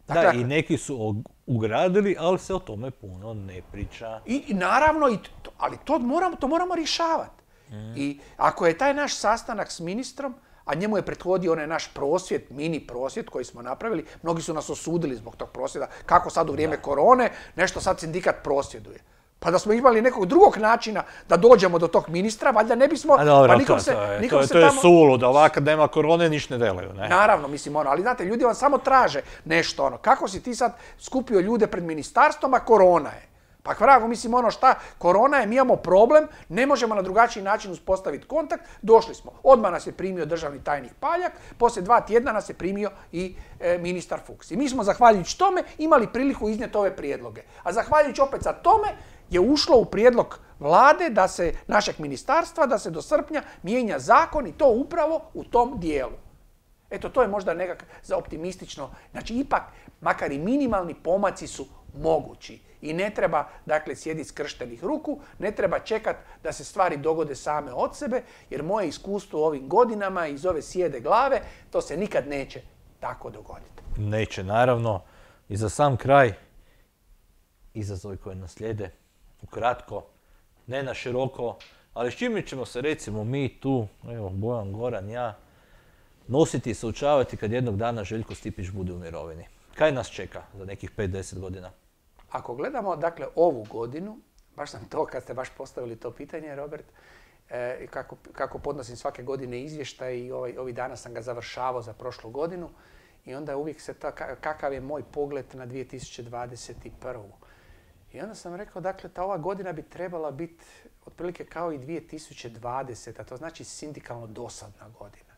Dakle, da, i neki su ugradili, ali se o tome puno ne priča. I, i naravno, i to, ali to moramo, to moramo rješavati. Mm. I ako je taj naš sastanak s ministrom, a njemu je prethodio onaj naš prosvjed, mini prosvjed koji smo napravili, mnogi su nas osudili zbog tog prosvjeda, kako sad u vrijeme da. korone, nešto sad sindikat prosvjeduje. Pa da smo imali nekog drugog načina da dođemo do tog ministra, valjda ne bismo... A dobro, pa nikom to, se, to je, nikom to je, se to je tamo... suludo, ovako kad nema korone ništa ne delaju, ne? Naravno, mislim ono, ali znate, ljudi vam samo traže nešto ono. Kako si ti sad skupio ljude pred ministarstvom, a korona je? Pa vrago, mislim ono šta, korona je, mi imamo problem, ne možemo na drugačiji način uspostaviti kontakt, došli smo. Odmah nas je primio državni tajnik Paljak, poslije dva tjedna nas je primio i e, ministar Fuchs. I mi smo, zahvaljujući tome, imali priliku iznijeti ove prijedloge. A zahvaljujući opet za tome je ušlo u prijedlog vlade, da se, našeg ministarstva, da se do srpnja mijenja zakon i to upravo u tom dijelu. Eto, to je možda nekak za optimistično. Znači, ipak, makar i minimalni pomaci su mogući. I ne treba, dakle, sjediti skrštenih ruku, ne treba čekati da se stvari dogode same od sebe, jer moje iskustvo u ovim godinama iz ove sjede glave, to se nikad neće tako dogoditi. Neće, naravno. I za sam kraj, izazovi koje nas slijede, ukratko, ne na široko, ali s čime ćemo se, recimo, mi tu, evo, Bojan, Goran, ja, nositi i suočavati kad jednog dana Željko Stipić bude u mirovini? Kaj nas čeka za nekih pet do deset godina? Ako gledamo, dakle, ovu godinu, baš sam to, kad ste baš postavili to pitanje, Robert, e, kako, kako podnosim svake godine izvještaj i ovaj, ovih dana sam ga završavao za prošlu godinu i onda uvijek se ta, kakav je moj pogled na dvije tisuće dvadeset prvu. I onda sam rekao, dakle, ta ova godina bi trebala biti otprilike kao i dvije tisuće dvadeseta, to znači sindikalno dosadna godina.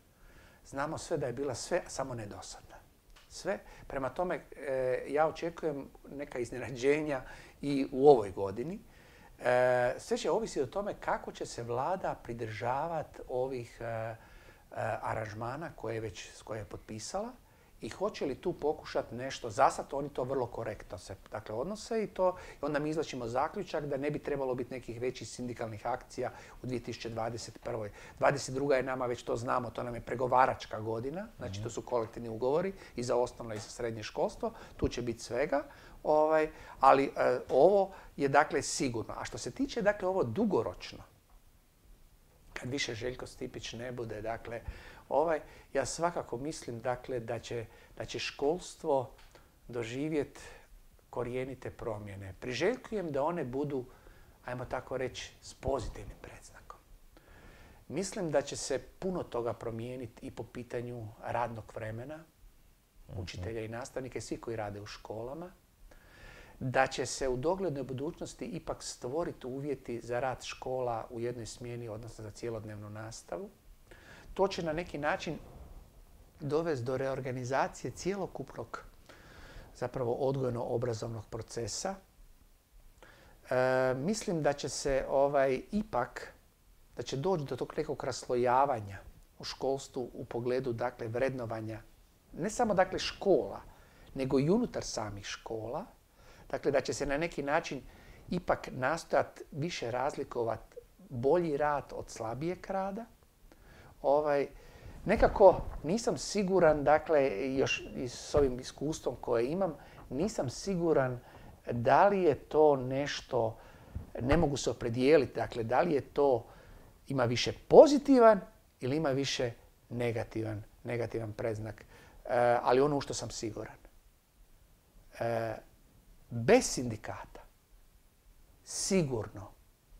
Znamo sve da je bila sve, samo ne dosadna. Sve. Prema tome, e, ja očekujem neka iznenađenja i u ovoj godini. E, sve će ovisiti o tome kako će se vlada pridržavati ovih e, e, aranžmana koje je već s koje je potpisala i hoće li tu pokušati nešto. Zasad oni to vrlo korektno se dakle, odnose i to i onda mi izvlačimo zaključak da ne bi trebalo biti nekih većih sindikalnih akcija u dvije tisuće dvadeset prvoj. dvadeset druga je nama, već to znamo, to nam je pregovaračka godina, znači to su kolektivni ugovori i za osnovno i za srednje školstvo, tu će biti svega, ovaj, ali e, ovo je dakle sigurno. A što se tiče dakle ovo dugoročno, kad više Željko Stipić ne bude, dakle, ovaj, ja svakako mislim dakle, da, će, da će školstvo doživjeti korijenite promjene. Priželjkujem da one budu, ajmo tako reći, s pozitivnim predznakom. Mislim da će se puno toga promijeniti i po pitanju radnog vremena, učitelja i nastavnika i svi koji rade u školama. Da će se u doglednoj budućnosti ipak stvoriti uvjeti za rad škola u jednoj smjeni, odnosno za cjelodnevnu nastavu. To će na neki način dovesti do reorganizacije cjelokupnog zapravo odgojno-obrazovnog procesa. E, mislim da će se ovaj, ipak, da će doći do tog nekog raslojavanja u školstvu u pogledu dakle, vrednovanja ne samo dakle, škola, nego i unutar samih škola. Dakle, da će se na neki način ipak nastojati više razlikovati bolji rad od slabijeg rada. Ovaj, nekako nisam siguran, dakle, još i s ovim iskustvom koje imam, nisam siguran da li je to nešto, ne mogu se opredijeliti, dakle, da li je to, ima više pozitivan ili ima više negativan, negativan predznak. E, ali ono u što sam siguran. E, bez sindikata sigurno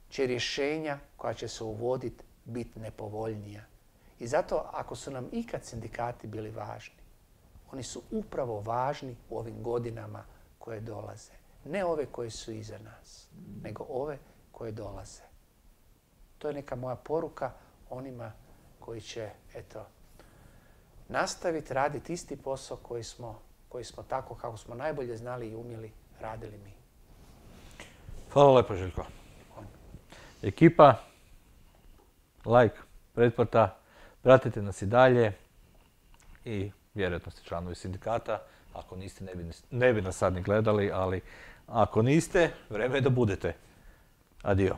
će rješenja koja će se uvoditi biti nepovoljnija. I zato ako su nam ikad sindikati bili važni, oni su upravo važni u ovim godinama koje dolaze. Ne ove koje su iza nas, nego ove koje dolaze. To je neka moja poruka onima koji će, eto, nastaviti raditi isti posao koji smo, koji smo tako kako smo najbolje znali i umjeli radili mi. Hvala lepo, Željko. Ekipa, like, pretplata, pratite nas i dalje i vjerojatno ste članovi sindikata. Ako niste, ne bi, ne bi nas sad ni gledali, ali ako niste, vreme je da budete. Adio.